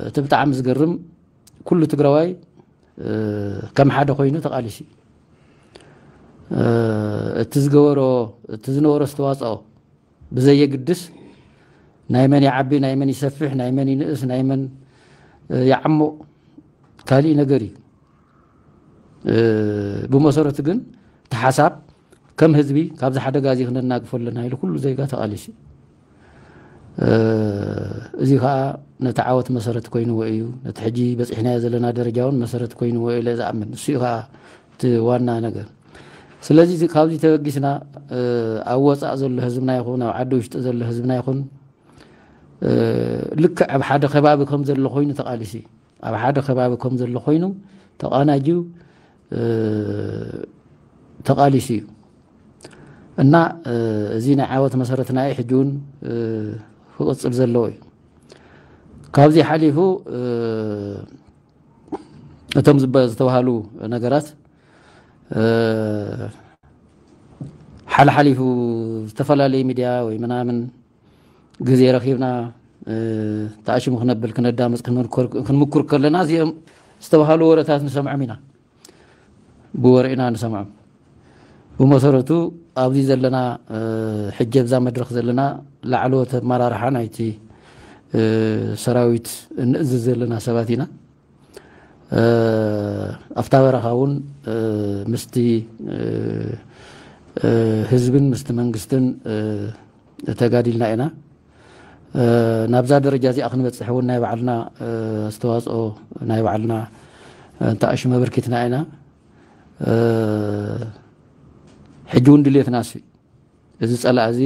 እቲ ብጣዕሚ ዝገርም፣ ኩሉ ትግራዋይ ከም ሓደ ኮይኑ ተቓሊሱ እዩ። እቲ ዝገበሮ፣ እቲ ዝነበሮ ኣስተዋፅኦ ብዘየግድስ፣ ናይ መን ይዓቢ፣ ናይ መን ይሰፍሕ፣ ናይ መን ይንእስ፣ ናይ መን ይዓሙቕ፣ ካሊእ ነገር እዩ። ብመሰረቱ ግን እቲ ሓሳብ ከም ህዝቢ ካብዚ ሓደጋ እዚ ክነናግፎ ኣለና ኢሉ ኩሉ ዜጋ ተቓሊሱ። እዚ ከዓ ነቲ ዓወት መሰረት ኮይንዎ እዩ። ነቲ ሕጂ በፂሕናዮ ዘለና ደረጃ እውን መሰረት ኮይንዎ ኢለ ዝኣምን። እሱ እዩ ከዓ እቲ ዋና ነገር። ስለዚ ካብዚ ተበጊስና ኣብ ወፃእ ዘሎ ህዝብና ይኹን ኣብ ዓዲ ውሽጢ ዘሎ ህዝብና ይኹን ልክዕ ኣብ ሓደ ከባቢ ከም ዘሎ ኮይኑ ተቓሊሱ እዩ። ኣብ ሓደ ከባቢ ከም ዘሎ ኮይኑ ተቓናጅዩ ተቓሊሱ እዩ እና እዚ ናይ ዓወት መሰረትና እዩ። ሕጂ እውን ክቕፅል ዘለዎ እዩ። ካብዚ ሓሊፉ እቶም ዝበ- ዝተባሃሉ ነገራት ሓልሓሊፉ ዝተፈላለየ ሚድያ ወይ ምናምን ግዜ ረኺብና ተኣሽሙ ክነብል ክነዳምፅ ክንምኩር ከለና እዚኦም ዝተባሃሉ ወረታት ንሰምዖም ኢና። ብወረ ኢና ንሰምዖም። ብመሰረቱ ኣብዚ ዘለና ሕጂ ኣብዛ መድረኽ ዘለና ላዕለዎት ኣመራርሓ ናይቲ ሰራዊት እንእዝዝ ዘለና ሰባት ኢና። ኣብታ በረኻ እውን ምስቲ ህዝብን ምስቲ መንግስትን ተጋዲልና ኢና። ናብዛ ደረጃ እዚኣ ክንበፅሕ እውን ናይ ባዕልና ኣስተዋፅኦ ናይ ባዕልና እንተኣሽመ ኣበርኪትና ኢና። ሕጂ እውን ድሌትና እሱ እዩ። እዚ ፀላእ እዚ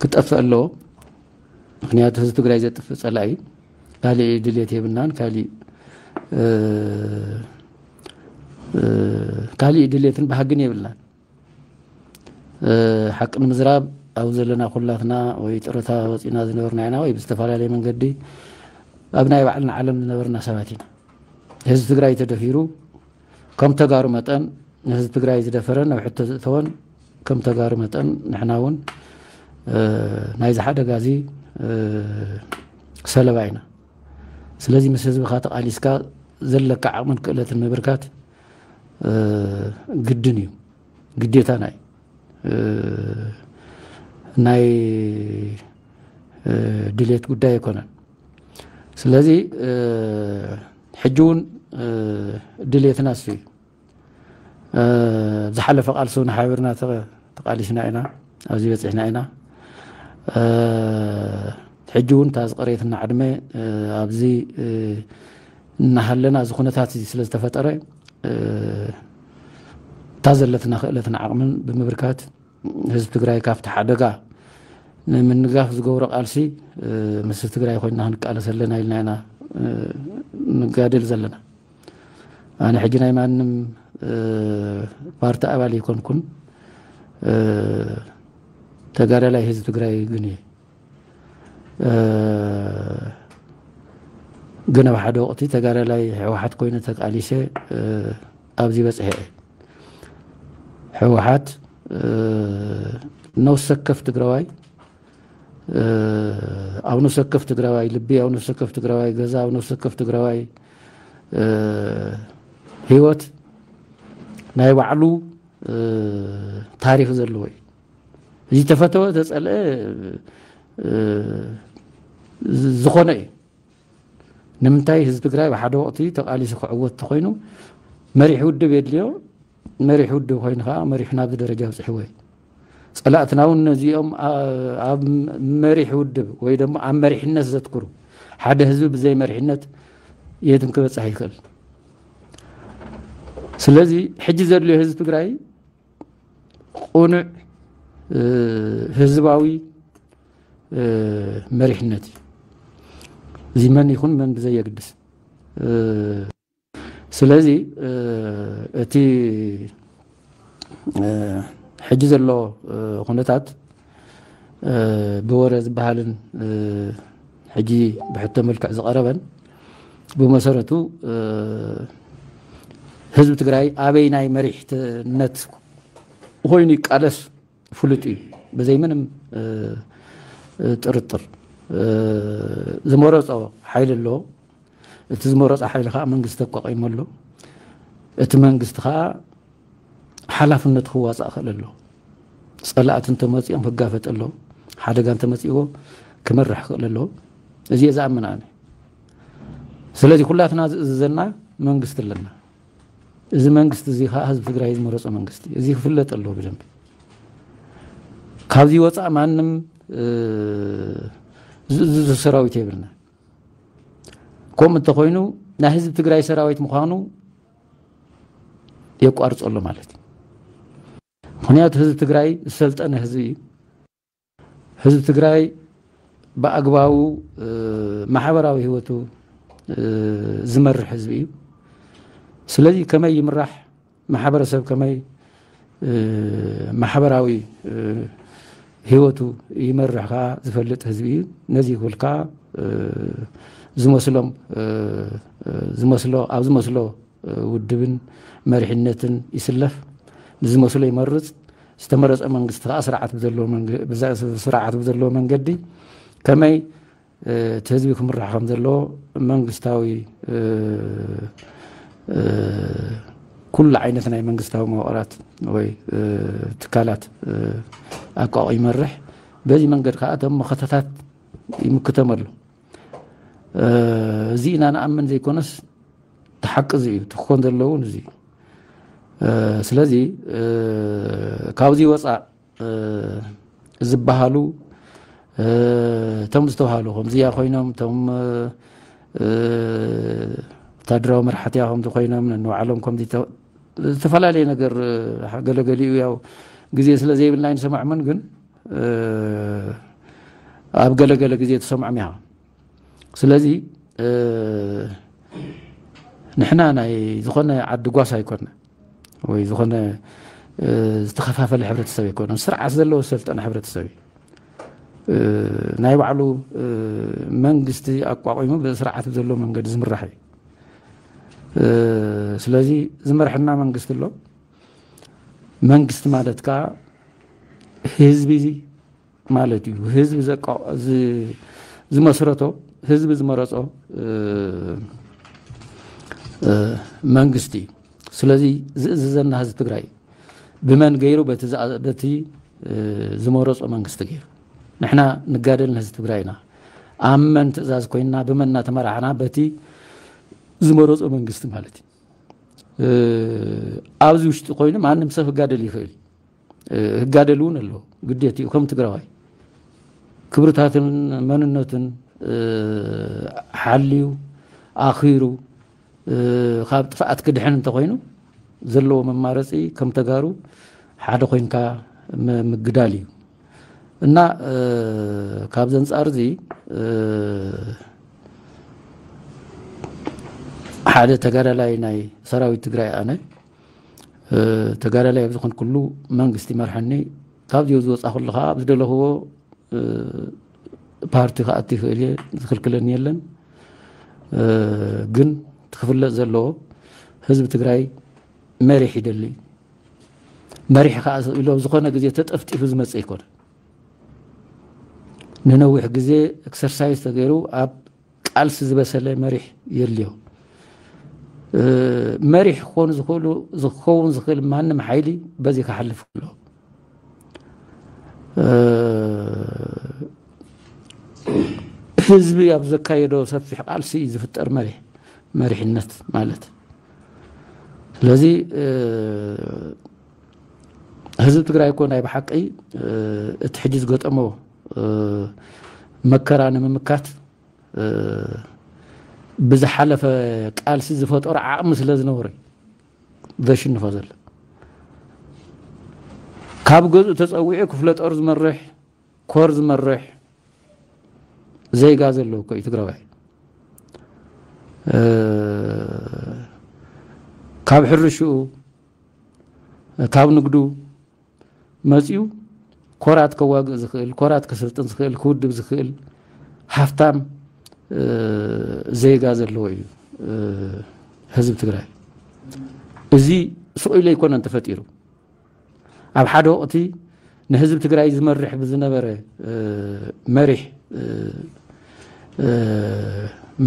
ክጠፍእ ኣለዎ። ምክንያቱ ህዝቢ ትግራይ ዘጥፍእ ፀላእ እዩ። ካሊእ ድሌት የብልናን። ካሊእ ካሊእ ድሌትን ባህግን የብልናን። ሓቂ ንምዝራብ ኣብ ዘለና ኩላትና ወይ ጥረታ ወፂና ዝነበርና ኢና ወይ ብዝተፈላለየ መንገዲ ኣብ ናይ ባዕልና ዓለም ዝነበርና ሰባት ኢና። ህዝቢ ትግራይ ተደፊሩ ከም ተጋሩ መጠን ንህዝቢ ትግራይ ዝደፈረን ኣብ ሕቶ ዘእተወን ከም ተጋሩ መጠን ንሕና እውን ናይዚ ሓደጋ እዚ ሰለባ ኢና። ስለዚ ምስ ህዝብኻ ተቓሊስካ ዘለካ ዓቕምን ክእለትን ምብርካት ግድን እዩ፣ ግዴታና እዩ። ናይ ድሌት ጉዳይ ኣይኮነን። ስለዚ ሕጂ እውን ድሌትና እሱ እዩ። ዝሓለፈ ቃልሲ እውን ሓቢርና ተቓሊስና ኢና፣ ኣብዚ በፂሕና ኢና። ሕጂ እውን እታ ዝቐረየትና ዕድመ ኣብዚ እናሃለና እዚ ኩነታት እዚ ስለ ዝተፈጠረ እታ ዘለትና ክእለትን ዓቕምን ብምብርካት ህዝቢ ትግራይ ካብቲ ሓደጋ ንምንጋፍ ዝገብሮ ቃልሲ ምስ ትግራይ ኮይና ክንቃለስ ኣለና ኢልና ኢና ንጋደል ዘለና። ኣነ ሕጂ ናይ ማንም ፓርቲ ኣባል ኣይኮንኩን። ተጋዳላይ ህዝቢ ትግራይ ግን እየ። ግን ኣብ ሓደ ወቕቲ ተጋዳላይ ህወሓት ኮይነ ተቃሊሰ ኣብዚ በፅሐ እየ። ህወሓት ነፍሲ ወከፍ ትግራዋይ ኣብ ነፍሲ ወከፍ ትግራዋይ ልቢ፣ ኣብ ነፍሲ ወከፍ ትግራዋይ ገዛ፣ ኣብ ነፍሲ ወከፍ ትግራዋይ ህይወት ናይ ባዕሉ ታሪክ ዘለዎ እዩ። እዚ ተፈተወ ተፀልአ ዝኾነ እዩ። ንምንታይ ህዝቢ ትግራይ ብሓደ ወቕቲ ተቓሊሱ ክዕወት ተኮይኑ መሪሕ ውድብ የድልዮ። መሪሕ ውድብ ኮይኑ ከዓ መሪሑ ናብዚ ደረጃ ኣብፅሕዎ እዩ። ፀላእትና እውን ነዚኦም ኣብ መሪሕ ውድብ ወይ ደግሞ ኣብ መሪሕነት ዘትክሩ፣ ሓደ ህዝቢ ብዘይ መሪሕነት የትም ክበፅሕ ይኽእል። ስለዚ ሕጂ ዘድልዮ ህዝቢ ትግራይ ቁኑዕ ህዝባዊ መሪሕነት እዩ። እዚ መን ይኹን መን ብዘየግድስ። ስለዚ እቲ ሕጂ ዘሎ ኩነታት ብወረ ዝበሃልን ሕጂ ብሕቶ መልክዕ ዝቐረበን ብመሰረቱ ህዝቢ ትግራይ ኣበይ ናይ መሪሕነት ኮይኑ ይቃለስ ፍሉጥ እዩ፣ ብዘይ ምንም ጥርጥር። ዝመረፆ ሓይሊ ኣሎ። እቲ ዝመረፆ ሓይሊ ከዓ መንግስቲ ኣቋቒሙ ኣሎ። እቲ መንግስቲ ከዓ ሓላፍነት ክዋፃእ ክእል ኣሎ። ፀላእቲ እንተመፂኦም ክጋፈጥ ኣሎ። ሓደጋ እንተመፂዎ ክመርሕ ክእል ኣሎ። እዚ እየ ዝኣምን ኣነ። ስለዚ ኩላትና ዝእዝዘና መንግስቲ ኣለና። እዚ መንግስቲ እዚ ከዓ ህዝቢ ትግራይ ዝመረፆ መንግስቲ እዩ። እዚ ክፍለጥ ኣለዎ ብደንቢ። ካብዚ ወፃእ ማንም ዝእዝዞ ሰራዊት የብልና። ከምኡ እንተኮይኑ ናይ ህዝቢ ትግራይ ሰራዊት ምዃኑ የቋርፀሉ ማለት እዩ። ምክንያቱ ህዝቢ ትግራይ ዝሰልጠነ ህዝቢ እዩ። ህዝቢ ትግራይ ብኣግባቡ ማሕበራዊ ህይወቱ ዝመርሕ ህዝቢ እዩ። ስለዚ ከመይ ይምራሕ፣ ማሕበረሰብ ከመይ ማሕበራዊ ህይወቱ ይመርሕ ከዓ ዝፈልጥ ህዝቢ እዩ። ነዚ ክብል ከዓ ዝመስሎም ዝመስሎ ኣብ ዝመስሎ ውድብን መሪሕነትን ይስለፍ፣ ንዝመስሎ ይመርፅ። ዝተመረፀ መንግስቲ ከዓ ስርዓት ብዘለዎ መንገ- ብዛ- ስርዓት ብዘለዎ መንገዲ ከመይ እቲ ህዝቢ ክምራሕ ከም ዘለዎ መንግስታዊ ኩሉ ዓይነት ናይ መንግስታዊ መዋቕራት ወይ ትካላት ኣቋቑ ይመርሕ። በዚ መንገድ ከዓ እቶም መኸተታት ይምክተመሉ። እዚ ኢና ንኣምን ዘይኮነስ፣ እቲ ሓቂ እዚ እዩ። እቲ ክኾን ዘለዎ እውን እዚ እዩ። ስለዚ ካብዚ ወፃእ ዝበሃሉ እቶም ዝተባሃሉ ከምዚኣ ኮይኖም፣ እቶም ወታደራዊ መራሕቲ ከምዚ ኮይኖም፣ ነንባዕሎም ከምዚ ተ- ዝተፈላለየ ነገር ገለገሊኡ ያው ግዜ ስለ ዘይብልና ኣይንሰማዕምን፣ ግን ኣብ ገለገለ ግዜ ትሰምዖም ኢኻ። ስለዚ ንሕና ናይ ዝኾነ ዓዲ ጓሳ ኣይኮነ ወይ ዝኾነ ዝተኸፋፈለ ሕብረተሰብ ኣይኮነ፣ ስርዓት ዘለዎ ዝሰልጠነ ሕብረተሰብ እዩ። ናይ ባዕሉ መንግስቲ ኣቋቒሙ ብስርዓት ብዘለዎ መንገዲ ዝምራሕ እዩ። ስለዚ ዝመርሐና መንግስቲ ኣሎ። መንግስቲ ማለት ከዓ ህዝቢ ማለት እዩ። ህዝቢ ዘቃ- ዝ- ዝመስረቶ፣ ህዝቢ ዝመረፆ መንግስቲ እዩ። ስለዚ ዝእዝዘና ህዝቢ ትግራይ እዩ። ብመን ገይሩ? በቲ ዝኣ- በቲ ዝመረፆ መንግስቲ ገይሩ። ንሕና ንጋደል ንህዝቢ ትግራይ ኢና። ኣብ መን ትእዛዝ ኮይንና፣ ብመን እናተመራሕና? በቲ ዝመረፆ መንግስቲ ማለት እዩ። ኣብዚ ውሽጢ ኮይኑ ማንም ሰብ ክጋደል ይኽእል እዩ። ህጋደል እውን ኣለዎ፣ ግዴት እዩ። ከም ትግራዋይ ክብርታትን መንነትን ሓልዩ ኣኺሩ ካብ ጥፍኣት ክድሕን እንተኮይኑ ዘለዎ መማረፂ ከም ተጋሩ ሓደ ኮይንካ ም- ምግዳል እዩ። እና ካብ ዘንፃር እዚ ሓደ ተጋዳላይ ናይ ሰራዊት ትግራይ ኣነ ተጋዳላይ ኣብ ዝኾንኩሉ መንግስቲ ይመርሐኒ። ካብዚኡ ዝወፃ ኩሉ ከዓ ኣብ ዝደለኽዎ ፓርቲ ክኣቱ ይኽእል እየ፣ ዝኽልክለኒ የለን። ግን ክፍለጥ ዘለዎ ህዝቢ ትግራይ መሪሕ ይደሊ። መሪሕ ከዓ ኢሎ ዝኾነ ግዜ ተጠፍጢፉ ዝመፅእ ኣይኮነ። ንነዊሕ ግዜ ኤክሰርሳይዝ ተገይሩ ኣብ ቃልሲ ዝበሰለ መሪሕ የድልዮ። መሪሕ ክኾኑ ዝኽእሉ ዝኸውን ዝኽእል ማንም ሓይሊ በዚ ክሓልፍ ኣሎ። ህዝቢ ኣብ ዘካየዶ ሰፊሕ ቃልሲ እዩ ዝፍጠር መሪሕ መሪሕነት ማለት። ስለዚ ህዝቢ ትግራይ እኮ ናይ ብሓቂ እቲ ሕጂ ዝገጠሞ መከራ ንምምካት ብዝሓለፈ ቃልሲ ዝፈጠሮ ዓቕሚ ስለ ዝነበረ ዘሽንፎ ዘሎ። ካብ ገዝኡ ተፀዊዑ ክፍለ ጦር ዝመርሕ፣ ኮር ዝመርሕ ዜጋ ዘለዎ እኮ እዩ ትግራዋይ። ካብ ሕርሽኡ፣ ካብ ንግዱ መፂኡ ኮራት ከዋግእ ዝኽእል፣ ኮራት ከሰልጥን ዝኽእል፣ ክውድብ ዝኽእል ሃፍታም ዜጋ ዘለዎ እዩ ህዝቢ ትግራይ። እዚ ስቕ ኢሉ ኣይኮነን ተፈጢሩ። ኣብ ሓደ ወቕቲ ንህዝቢ ትግራይ ዝመርሕ ብዝነበረ መሪሕ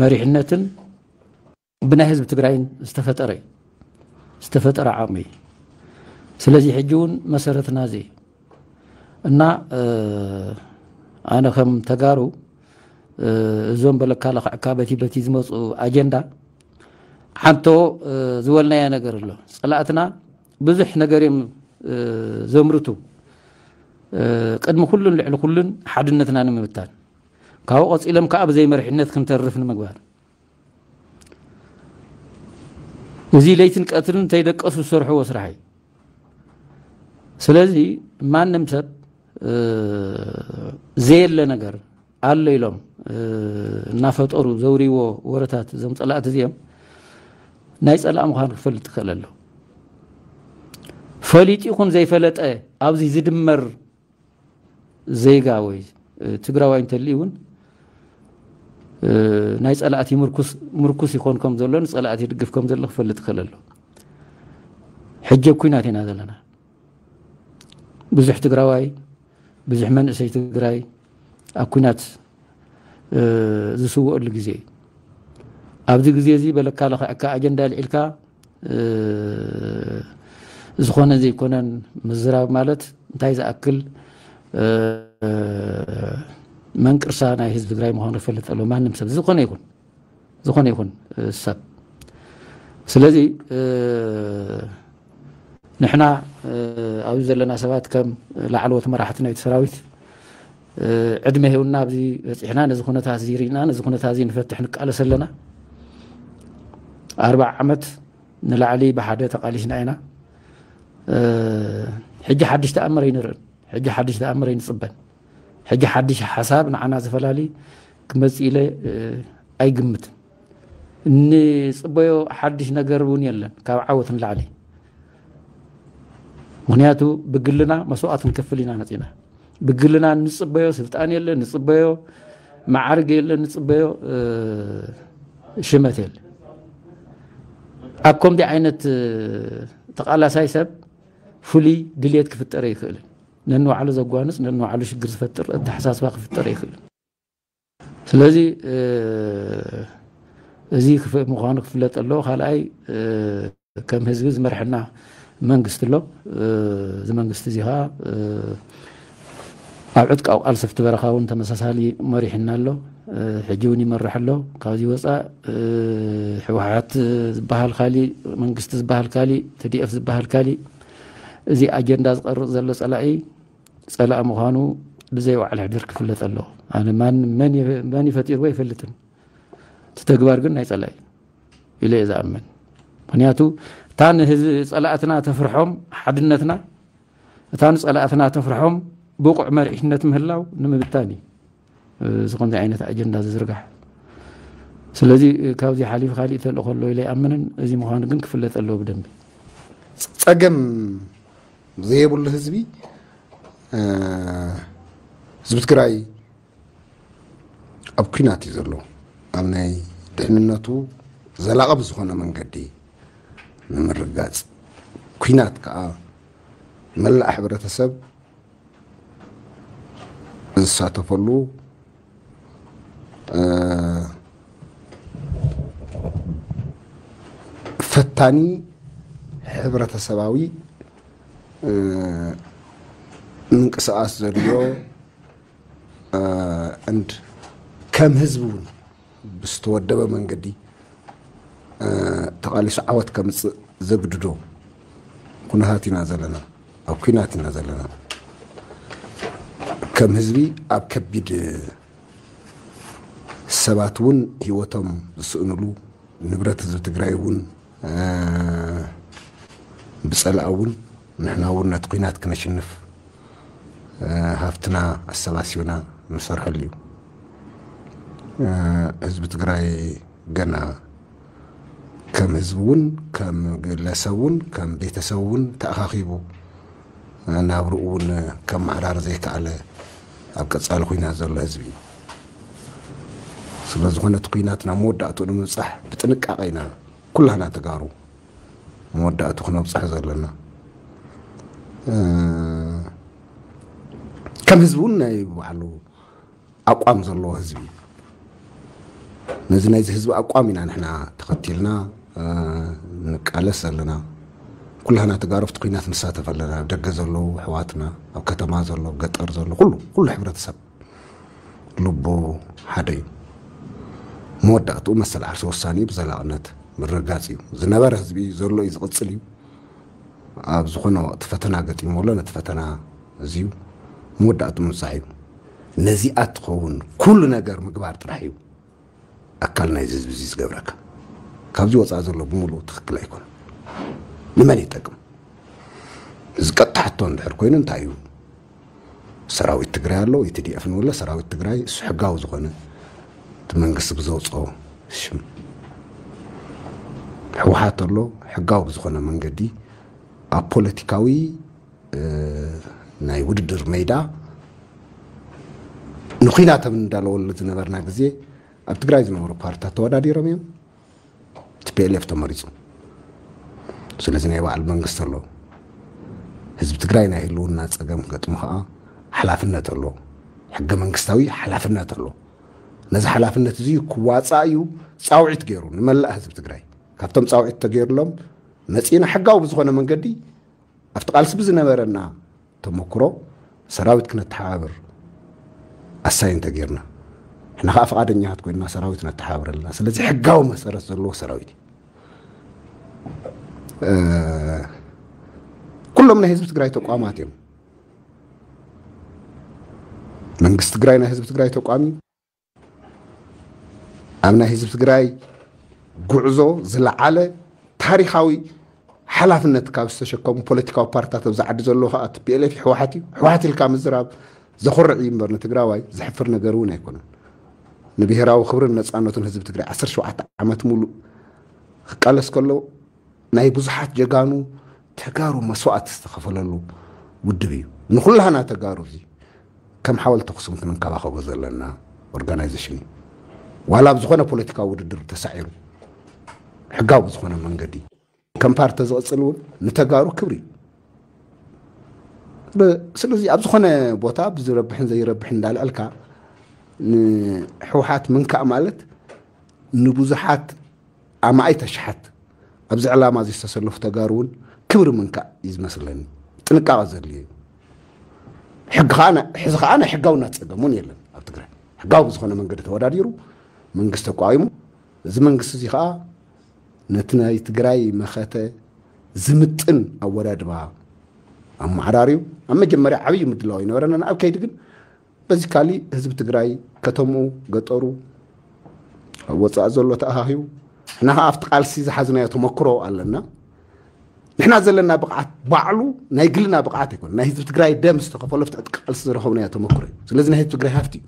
መሪሕነትን ብናይ ህዝቢ ትግራይን ዝተፈጠረ እዩ። ዝተፈጠረ ዓቕሚ እዩ። ስለዚ ሕጂ እውን መሰረትና እዚ እዩ። እና ኣነ ከም ተጋሩ እዞም በለካ ለኽዕካ በቲ በቲ ዝመፁ ኣጀንዳ ሓንቶ ዝበልናዮ ነገር ኣሎ። ፀላእትና ብዙሕ ነገር እዮም ዘምርቱ። ቅድሚ ኩሉን ልዕሊ ኩሉን ሓድነትና ንምብታን፣ ካብኡ ቀፂሎም ከዓ ብዘይ መሪሕነት ክንተርፍ ንምግባር፣ እዚ ለይትን ቀትርን እንተይደቀሱ ዝሰርሕዎ ስራሕ እዩ። ስለዚ ማንም ሰብ ዘየለ ነገር ኣሎ ኢሎም እናፈጠሩ ዘውርይዎ ወረታት እዞም ፀላእቲ እዚኦም ናይ ፀላእ ምዃኑ ክፈልጥ ይኽእል ኣሎ። ፈሊጡ ይኹን ዘይፈለጠ ኣብዚ ዝድመር ዜጋ ወይ ትግራዋይ እንተልዩ እውን ናይ ፀላእቲ ምርኩስ ይኾን ከም ዘሎ፣ ንፀላእቲ ይድግፍ ከም ዘሎ ክፈልጥ ይኽእል ኣሎ። ሕጂ ኣብ ኩናት ኢና ዘለና። ብዙሕ ትግራዋይ፣ ብዙሕ መንእሰይ ትግራይ ኣብ ኩናት ዝስወአሉ ግዜ እዩ። ኣብዚ ግዜ እዚ በለካ ለኽዕካ ኣጀንዳ ኣልዒልካ ዝኾነ ዘይኮነን ምዝራብ ማለት እንታይ ዝኣክል መንቅርሳ ናይ ህዝቢ ትግራይ ምዃኑ ይፈልጥ ኣሎ። ማንም ሰብ ዝኾነ ይኹን፣ ዝኾነ ይኹን ሰብ። ስለዚ ንሕና ኣብዚ ዘለና ሰባት ከም ላዕለዎት መራሕቲ ናይቲ ሰራዊት ዕድመ ሂብና ኣብዚ በፂሕና፣ ነዚ ኩነታት እዚ ርኢና፣ ነዚ ኩነታት እዚ ንፈትሕ ንቃለስ ኣለና። ኣርባዓ ዓመት ንላዕሊ ብሓደ ተቓሊስና ኢና። ሕጂ ሓድሽ ተኣምር ኣይንርእን። ሕጂ ሓድሽ ተኣምር ኣይንፅበን። ሕጂ ሓድሽ ሓሳብ ንዓና ዝፈላሊ ክመፅእ ኢለ ኣይግምትን። እንፅበዮ ሓድሽ ነገር እውን የለን ካብ ዓወት ንላዕሊ። ምኽንያቱ ብግልና መስዋእቲ ንከፍል ኢና መፂና። ብግልና እንፅበዮ ስልጣን የለን፣ ንፅበዮ መዓርግ የለን፣ ንፅበዮ ሽመት የለን። ኣብ ከምዚ ዓይነት ተቓላሳይ ሰብ ፍሉይ ድልየት ክፍጠር ኣይኽእልን። ነንባዕሉ ዘጓንፅ፣ ነንባዕሉ ሽግር ዝፈጥር ኣተሓሳስባ ክፍጠር ኣይኽእልን። ስለዚ እዚ ምዃኑ ክፍለጥ ኣለዎ። ካልኣይ ከም ህዝቢ ዝመርሐና መንግስቲ ኣሎ። እዚ መንግስቲ እዚ ከዓ ኣብ ዕጥቃዊ ቃልሲ ኣብቲ በረኻ እውን ተመሳሳሊ መሪሕና ኣሎ። ሕጂ እውን ይመርሕ ኣሎ። ካብዚ ወፃእ ህወሓት ዝበሃል ካሊእ፣ መንግስቲ ዝበሃል ካሊእ፣ ቲ ዲ ኤፍ ዝበሃል ካሊእ። እዚ ኣጀንዳ ዝቐርፅ ዘሎ ፀላኢ ፀላኢ ምዃኑ ብዘይ ዋዕላ ሕድር ክፍለጥ ኣለዎ። ኣነ መን መን ይፈጢርዎ ኣይፈልጥን። እቲ ተግባር ግን ናይ ፀላኢ ኢለ እየ ዝኣምን። ምኽንያቱ እታ ንህዝቢ ፀላእትና ተፍርሖም ሓድነትና፣ እታ ንፀላእትና ተፍርሖም ብቑዕ መሪሕነት ምህላው ንምብታን እዩ እዚ ከምዚ ዓይነት ኣጀንዳ ዝዝርጋሕ። ስለዚ ካብዚ ሓሊፉ ካሊእ ተልእኾ ኣሎ ኢለ ኣይኣምንን። እዚ ምዃኑ ግን ክፍለጥ ኣለዎ ብደንቢ። ፀገም ዘየብሉ ህዝቢ ህዝቢ ትግራይ ኣብ ኩናት እዩ ዘሎ። ኣብ ናይ ድሕንነቱ ዘላቒ ብዝኾነ መንገዲ ንምርጋፅ ኩናት ከዓ መላእ ሕብረተሰብ ዝሳተፈሉ ፈታኒ ሕብረተሰባዊ ምንቅስቃስ ዘድልዮ and ከም ህዝቢ እውን ብዝተወደበ መንገዲ ተቓሊሱ ዓወት ከምፅእ ዘግድዶ ኩነታት ኢና ዘለና፣ ኣብ ኩናት ኢና ዘለና። ከም ህዝቢ ኣብ ከቢድ ሰባት እውን ህይወቶም ዝስእንሉ፣ ንብረት ህዝቢ ትግራይ እውን ብፀላእ እውን ንሕና እውን ነቲ ኩናት ክነሽንፍ ሃፍትና ኣሰባሲብና ንሰርሐሉ እዩ። ህዝቢ ትግራይ ገና ከም ህዝቢ እውን ከም ግለሰብ እውን ከም ቤተሰብ እውን ተኣኻኺቡ ናብርኡ እውን ከመዓራር ዘይከኣለ ኣብ ቀፃሊ ኩናት ዘሎ ህዝቢ እዩ። ስለዝኾነ እቲ ኩናት ናብ መወዳእትኡ ንምብፃሕ ብጥንቃቄ ኢና ኩላህና ተጋሩ መወዳእቱ ክነብፅሕ ዘለና። ከም ህዝቢ እውን ናይ ባዕሉ ኣቋም ዘለዎ ህዝቢ እዩ። ነዚ ናይዚ ህዝቢ ኣቋም ኢና ንሕና ተኸቲልና ንቃለስ ዘለና። ኩላህና ተጋሩ ኣብቲ ኩናት ንሳተፍ ኣለና። ኣብ ደገ ዘለዉ ኣሕዋትና፣ ኣብ ከተማ ዘሎ፣ ኣብ ገጠር ዘሎ፣ ኩሉ ኩሉ ሕብረተሰብ ልቡ ሓደ እዩ። መወዳእትኡ መሰል ዓርሲ ወሳኒ እዩ። ብዘላቕነት ምርጋፅ እዩ። ዝነበረ ህዝቢ ዘሎ እዩ፣ ዝቕፅል እዩ። ኣብ ዝኾነ ወቕቲ ፈተና ገጢሙ ኣሎ። ነቲ ፈተና እዚዩ መወዳእትኡ ምብፃሕ እዩ። ነዚኣ ትኸውን ኩሉ ነገር ምግባር ጥራሕ እዩ ኣካል ናይዚ ህዝቢ እዚ ዝገብረካ። ካብዚ ወፃኢ ዘሎ ብምሉኡ ትኽክል ኣይኮነን። ንመን ይጠቅም? እዚ ቀጥታ ሕቶ እንድሕር ኮይኑ እንታይ እዩ? ሰራዊት ትግራይ ኣሎ፣ ኢቲ ዲ ኤፍ ንብሎ፣ ሰራዊት ትግራይ እሱ ሕጋዊ ዝኾነ እቲ መንግስቲ ብዘውፅኦ ሽም። ህወሓት ኣሎ፣ ሕጋዊ ብዝኾነ መንገዲ ኣብ ፖለቲካዊ ናይ ውድድር ሜዳ ንኩናት ኣብ እንዳለወሉ ዝነበርና ግዜ ኣብ ትግራይ ዝነበሩ ፓርትታት ተወዳዲሮም እዮም። ቲ ፒ ኤል ኤፍ ተመሪፁ። ስለዚ ናይ ባዕሉ መንግስቲ ኣሎ። ህዝቢ ትግራይ ናይ ህልውና ፀገም ክገጥሞ ከዓ ሓላፍነት ኣሎ። ሕገ መንግስታዊ ሓላፍነት ኣሎ። ነዚ ሓላፍነት እዚ ክዋፃእ እዩ ፃውዒት ገይሩ ንመላእ ህዝቢ ትግራይ። ካብቶም ፃውዒት ተገይሩሎም መፂእና ሕጋዊ ብዝኾነ መንገዲ ኣብቲ ቃልሲ ብዝነበረና ተመክሮ ሰራዊት ክነተሓባብር ኣሳይን ተገይርና፣ ንሕና ከዓ ፍቓደኛታት ኮይንና ሰራዊት ነተሓባብር ኣለና። ስለዚ ሕጋዊ መሰረት ዘለዎ ሰራዊት እዩ። እ፣ ኩሎም ናይ ህዝቢ ትግራይ ተቋማት እዮም። መንግስቲ ትግራይ ናይ ህዝቢ ትግራይ ተቋም እዩ። ኣብ ናይ ህዝቢ ትግራይ ጉዕዞ ዝለዓለ ታሪኻዊ ሓላፍነት ካብ ዝተሸከሙ ፖለቲካዊ ፓርትታት ኣብዚ ዓዲ ዘለዎ ከዓ ቲ ፒ ኤል ኤፍ ህወሓት እዩ። ህወሓት ኢልካ ምዝራብ ዘኹርዕ እዩ እምበር ንትግራዋይ ዘሕፍር ነገር እውን ኣይኮነን። ንብሄራዊ ክብርን ነፃነቱን ህዝቢ ትግራይ ዓሰርተ ሸውዓተ ዓመት ሙሉእ ክቃለስ ከሎ ናይ ብዙሓት ጀጋኑ ተጋሩ መስዋእቲ ዝተኸፈለሉ ውድብ እዩ። ንኹላህና ተጋሩ እዚ ከም ሓወልቲ ኣኽሱም ክንንከባኸቦ ዘለና ኦርጋናይዜሽን እዩ። ዋላ ኣብ ዝኾነ ፖለቲካዊ ውድድር ተሳዒሩ ሕጋዊ ብዝኾነ መንገዲ ከም ፓርቲ ዝቕፅል እውን ንተጋሩ ክብሪ እዩ። ብ-፣ ስለዚ ኣብ ዝኾነ ቦታ ብዝረብሕን ዘይረብሕን እንዳልዐልካ ንህወሓት ምንካእ ማለት ንብዙሓት ኣማኢት ኣሽሓት ኣብዚ ዕላማ እዚ ዝተሰለፉ ተጋሩ እውን ክብሪ ምንካእ እዩ ዝመስለኒ። ጥንቃቐ ዘድልዮ እዩ። ሕጊ ከዓ ናይ-፣ ሕዚ ከዓ ናይ ሕጋውነት ፀገም እውን የለን ኣብ ትግራይ። ሕጋዊ ብዝኾነ መንገዲ ተወዳዲሩ መንግስቲ ተቋዊሙ፣ እዚ መንግስቲ እዚ ከዓ ነቲ ናይ ትግራይ መኸተ ዝምጥን ኣወዳድባ ኣመዓራርዩ ኣብ መጀመርያ ዓብዪ ምድላው ይነበረና። ኣብ ከይዲ ግን በዚ ካሊእ ህዝቢ ትግራይ ከተምኡ፣ ገጠሩ፣ ኣብ ወፃኢ ዘሎ ተኣኻኺቡ፣ ንሕና ከዓ ኣብቲ ቃልሲ ዝሓዝናዮ ተመክሮ ኣለና። ንሕና ዘለና ብቕዓት ባዕሉ ናይ ግልና ብቕዓት ኣይኮነ፣ ናይ ህዝቢ ትግራይ ደም ዝተኸፈሎ ኣብቲ ቃልሲ ዝረኸብናዮ ተመክሮ እዩ። ስለዚ ናይ ህዝቢ ትግራይ ሃፍቲ እዩ።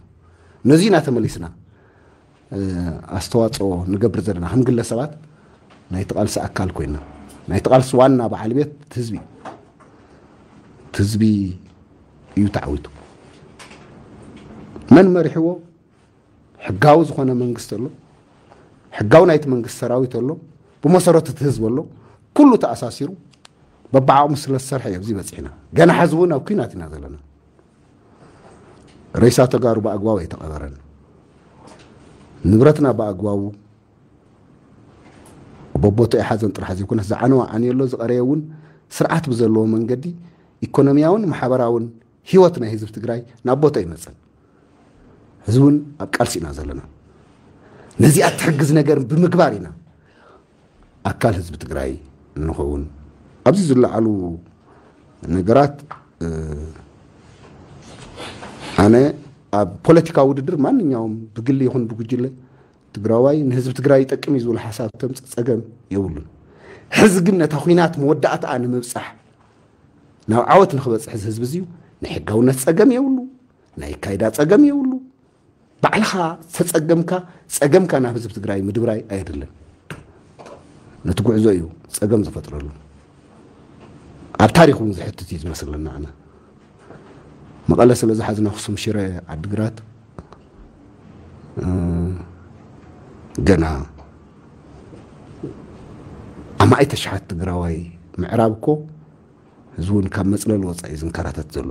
ነዚ ኢና ተመሊስና እ፣ ኣስተዋፅኦ ንገብር ዘለና ከም ግለሰባት ናይቲ ቃልሲ ኣካል ኮይና፣ ናይቲ ቃልሲ ዋና በዓል ቤት እቲ ህዝቢ እዩ። እቲ ህዝቢ እዩ ተዓዊቱ። መን መሪሕዎ? ሕጋዊ ዝኾነ መንግስቲ ኣሎ። ሕጋዊ ናይቲ መንግስቲ ሰራዊት ኣሎ። ብመሰረቱ እቲ ህዝቢ ኣሎ። ኩሉ ተኣሳሲሩ በብዓቕሙ ስለ ዝሰርሐ እዩ ኣብዚ በፂሕና። ገና ሕዚ እውን ኣብ ኲናት ኢና ዘለና። ሬሳ ተጋሩ ብኣግባቡ ኣይተቐበረን። ንብረትና ብኣግባቡ በቦትኡ ኣይሓዘን ጥራሕ ዘይኮነስ ዝዓነወ ዓንዩ ኣሎ፣ ዝቐረየ እውን ስርዓት ብዘለዎ መንገዲ ኢኮኖሚያውን ማሕበራውን ህይወት ናይ ህዝቢ ትግራይ ናብ ቦትኡ ኣይመፀን። ሕዚ እውን ኣብ ቃልሲ ኢና ዘለና። ነዚኣ ትሕግዝ ነገር ብምግባር ኢና ኣካል ህዝቢ ትግራይ ንኸውን። ኣብዚ ዝለዓሉ ነገራት፣ እ፣ ኣነ ኣብ ፖለቲካዊ ውድድር ማንኛውም ብግሊ ይኹን ብጉጅለ ትግራዋይ ንህዝቢ ትግራይ ይጠቅም እዩ ዝብል ሓሳብ ተምፅእ ፀገም የብሉን። ሕዚ ግን ነታ ኲናት መወዳእታኣ ንምብፃሕ ናብ ዓወት ንክበፅሕ እዚ ህዝቢ እዚዩ ናይ ሕጋውነት ፀገም የብሉ፣ ናይ ካይዳ ፀገም የብሉ። ባዕልኻ ዝተፀገምካ ፀገምካ ናብ ህዝቢ ትግራይ ምድብራይ ኣየድልን። ነቲ ጉዕዞ እዩ ፀገም ዝፈጥረሉ። ኣብ ታሪክ እውን ዝሕትት እዩ ዝመስለና። ኣነ መቐለ ስለ ዝሓዝና ኣኽሱም፣ ሽረ፣ ዓድግራት፣ እ፣ ገና ኣማኢት ኣሽሓት ትግራዋይ ምዕራብ እኮ ህዝቢ እውን ካብ መፅለሊ ወፃኢ እዩ ዝንከራተት ዘሎ።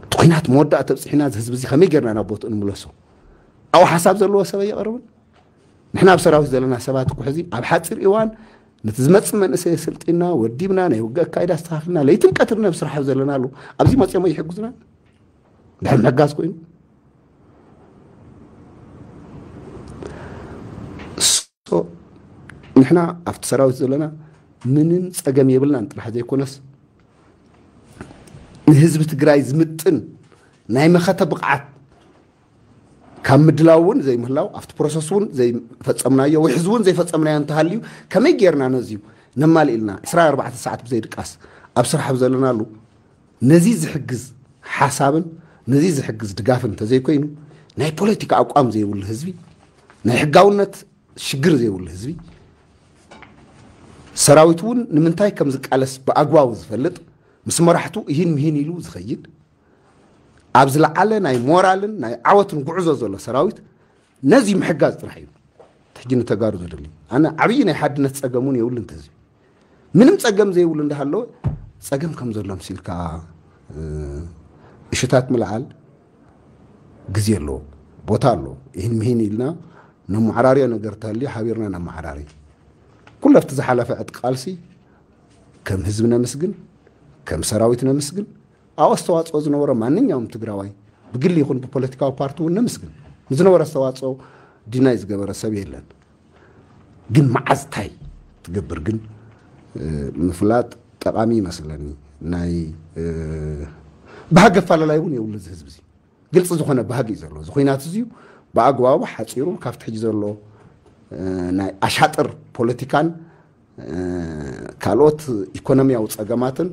እቲ ኩናት መወዳእታ ኣብፅሒና፣ እዚ ህዝቢ እዚ ከመይ ጌርና ናብ ቦትኡ ንምለሶ? ኣብኡ ሓሳብ ዘለዎ ሰብ ኣይቐርብን። ንሕና ኣብ ሰራዊት ዘለና ሰባት እኮ ሕዚ ኣብ ሓፂር እዋን ነቲ ዝመፅእ መንእሰይ ኣሰልጢና፣ ወዲብና፣ ናይ ውግእ ኣካይዳ ኣስተኻኺልና፣ ለይትን ቀትርን ኣብ ስራሕ ዘለናሉ፣ ኣብዚ መፅኦም ኣይሕግዙና? ድሕሪ ምሕጋዝ ኮይኑ። So፣ ንሕና ኣብቲ ሰራዊት ዘለና ምንም ፀገም የብልናን ጥራሕ ዘይኮነስ፣ ንህዝቢ ትግራይ ዝምጥን ናይ መኸተ ብቕዓት ካብ ምድላው እውን ዘይምህላው፣ ኣብቲ ፕሮሰስ እውን ዘይፈጸምናዮ፣ ወይ ሕዚ እውን ዘይፈጸምናዮ እንተሃልዩ፣ ከመይ ጌርና ነዚዩ ነማልእ ኢልና ዕስራን ኣርባዕተን ሰዓት ብዘይድቃስ ኣብ ስራሕ ኣብ ዘለናሉ፣ ነዚ ዝሕግዝ ሓሳብን ነዚ ዝሕግዝ ድጋፍን እንተዘይኮይኑ፣ ናይ ፖለቲካ ኣቋም ዘይብሉ ህዝቢ፣ ናይ ሕጋውነት ሽግር ዘይብሉ ህዝቢ፣ ሰራዊት እውን ንምንታይ ከም ዝቃለስ ብኣግባቡ ዝፈልጥ፣ ምስ መራሕቱ እሂን ምሂን ኢሉ ዝኸይድ፣ ኣብ ዝለዓለ ናይ ሞራልን ናይ ዓወትን ጉዕዞ ዘሎ ሰራዊት ነዚ ምሕጋዝ ጥራሕ እዩ። ሕጂ ንተጋሩ ዘድሊ፣ ኣነ ዓብዪ ናይ ሓድነት ጸገም እውን የብሉን። እንተዚ ምንም ጸገም ዘይብሉ እንዳሃለወ፣ ጸገም ከም ዘሎ ምሲልካ፣ እ፣ እሽታት ምልዓል ግዜ ኣለዎ፣ ቦታ ኣለዎ። ይህን ምሂን ኢልና ነመዓራርዮ ነገር ተልዩ ሓቢርና ነመዓራሪ። ኩሉ ኣብቲ ዝሓለፈ ዕጥቂ ቃልሲ ከም ህዝቢ ነመስግን፣ ከም ሰራዊት ነመስግን። ኣብ ኣስተዋጽኦ ዝነበሮ ማንኛውም ትግራዋይ ብግሊ ይኹን ብፖለቲካዊ ፓርቲ እውን ነመስግን። ንዝነበረ ኣስተዋጽኦ ዲናይ ዝገበረ ሰብ የለን። ግን መዓዝ ታይ ትገብር ግን፣ እ፣ ምፍላጥ ጠቓሚ ይመስለኒ። ናይ፣ እ፣ ባህጊ ኣፈላላይ እውን የብሉ እዚ ህዝቢ እዚ። ግልፂ ዝኾነ ባህጊ እዩ ዘለዎ። እዚ ኹናት እዚ እዩ ብኣግባቡ ሓፂሩ ካብቲ ሕጂ ዘሎ፣ እ፣ ናይ ኣሻጥር ፖለቲካን፣ እ፣ ካልኦት ኢኮኖሚያዊ ጸገማትን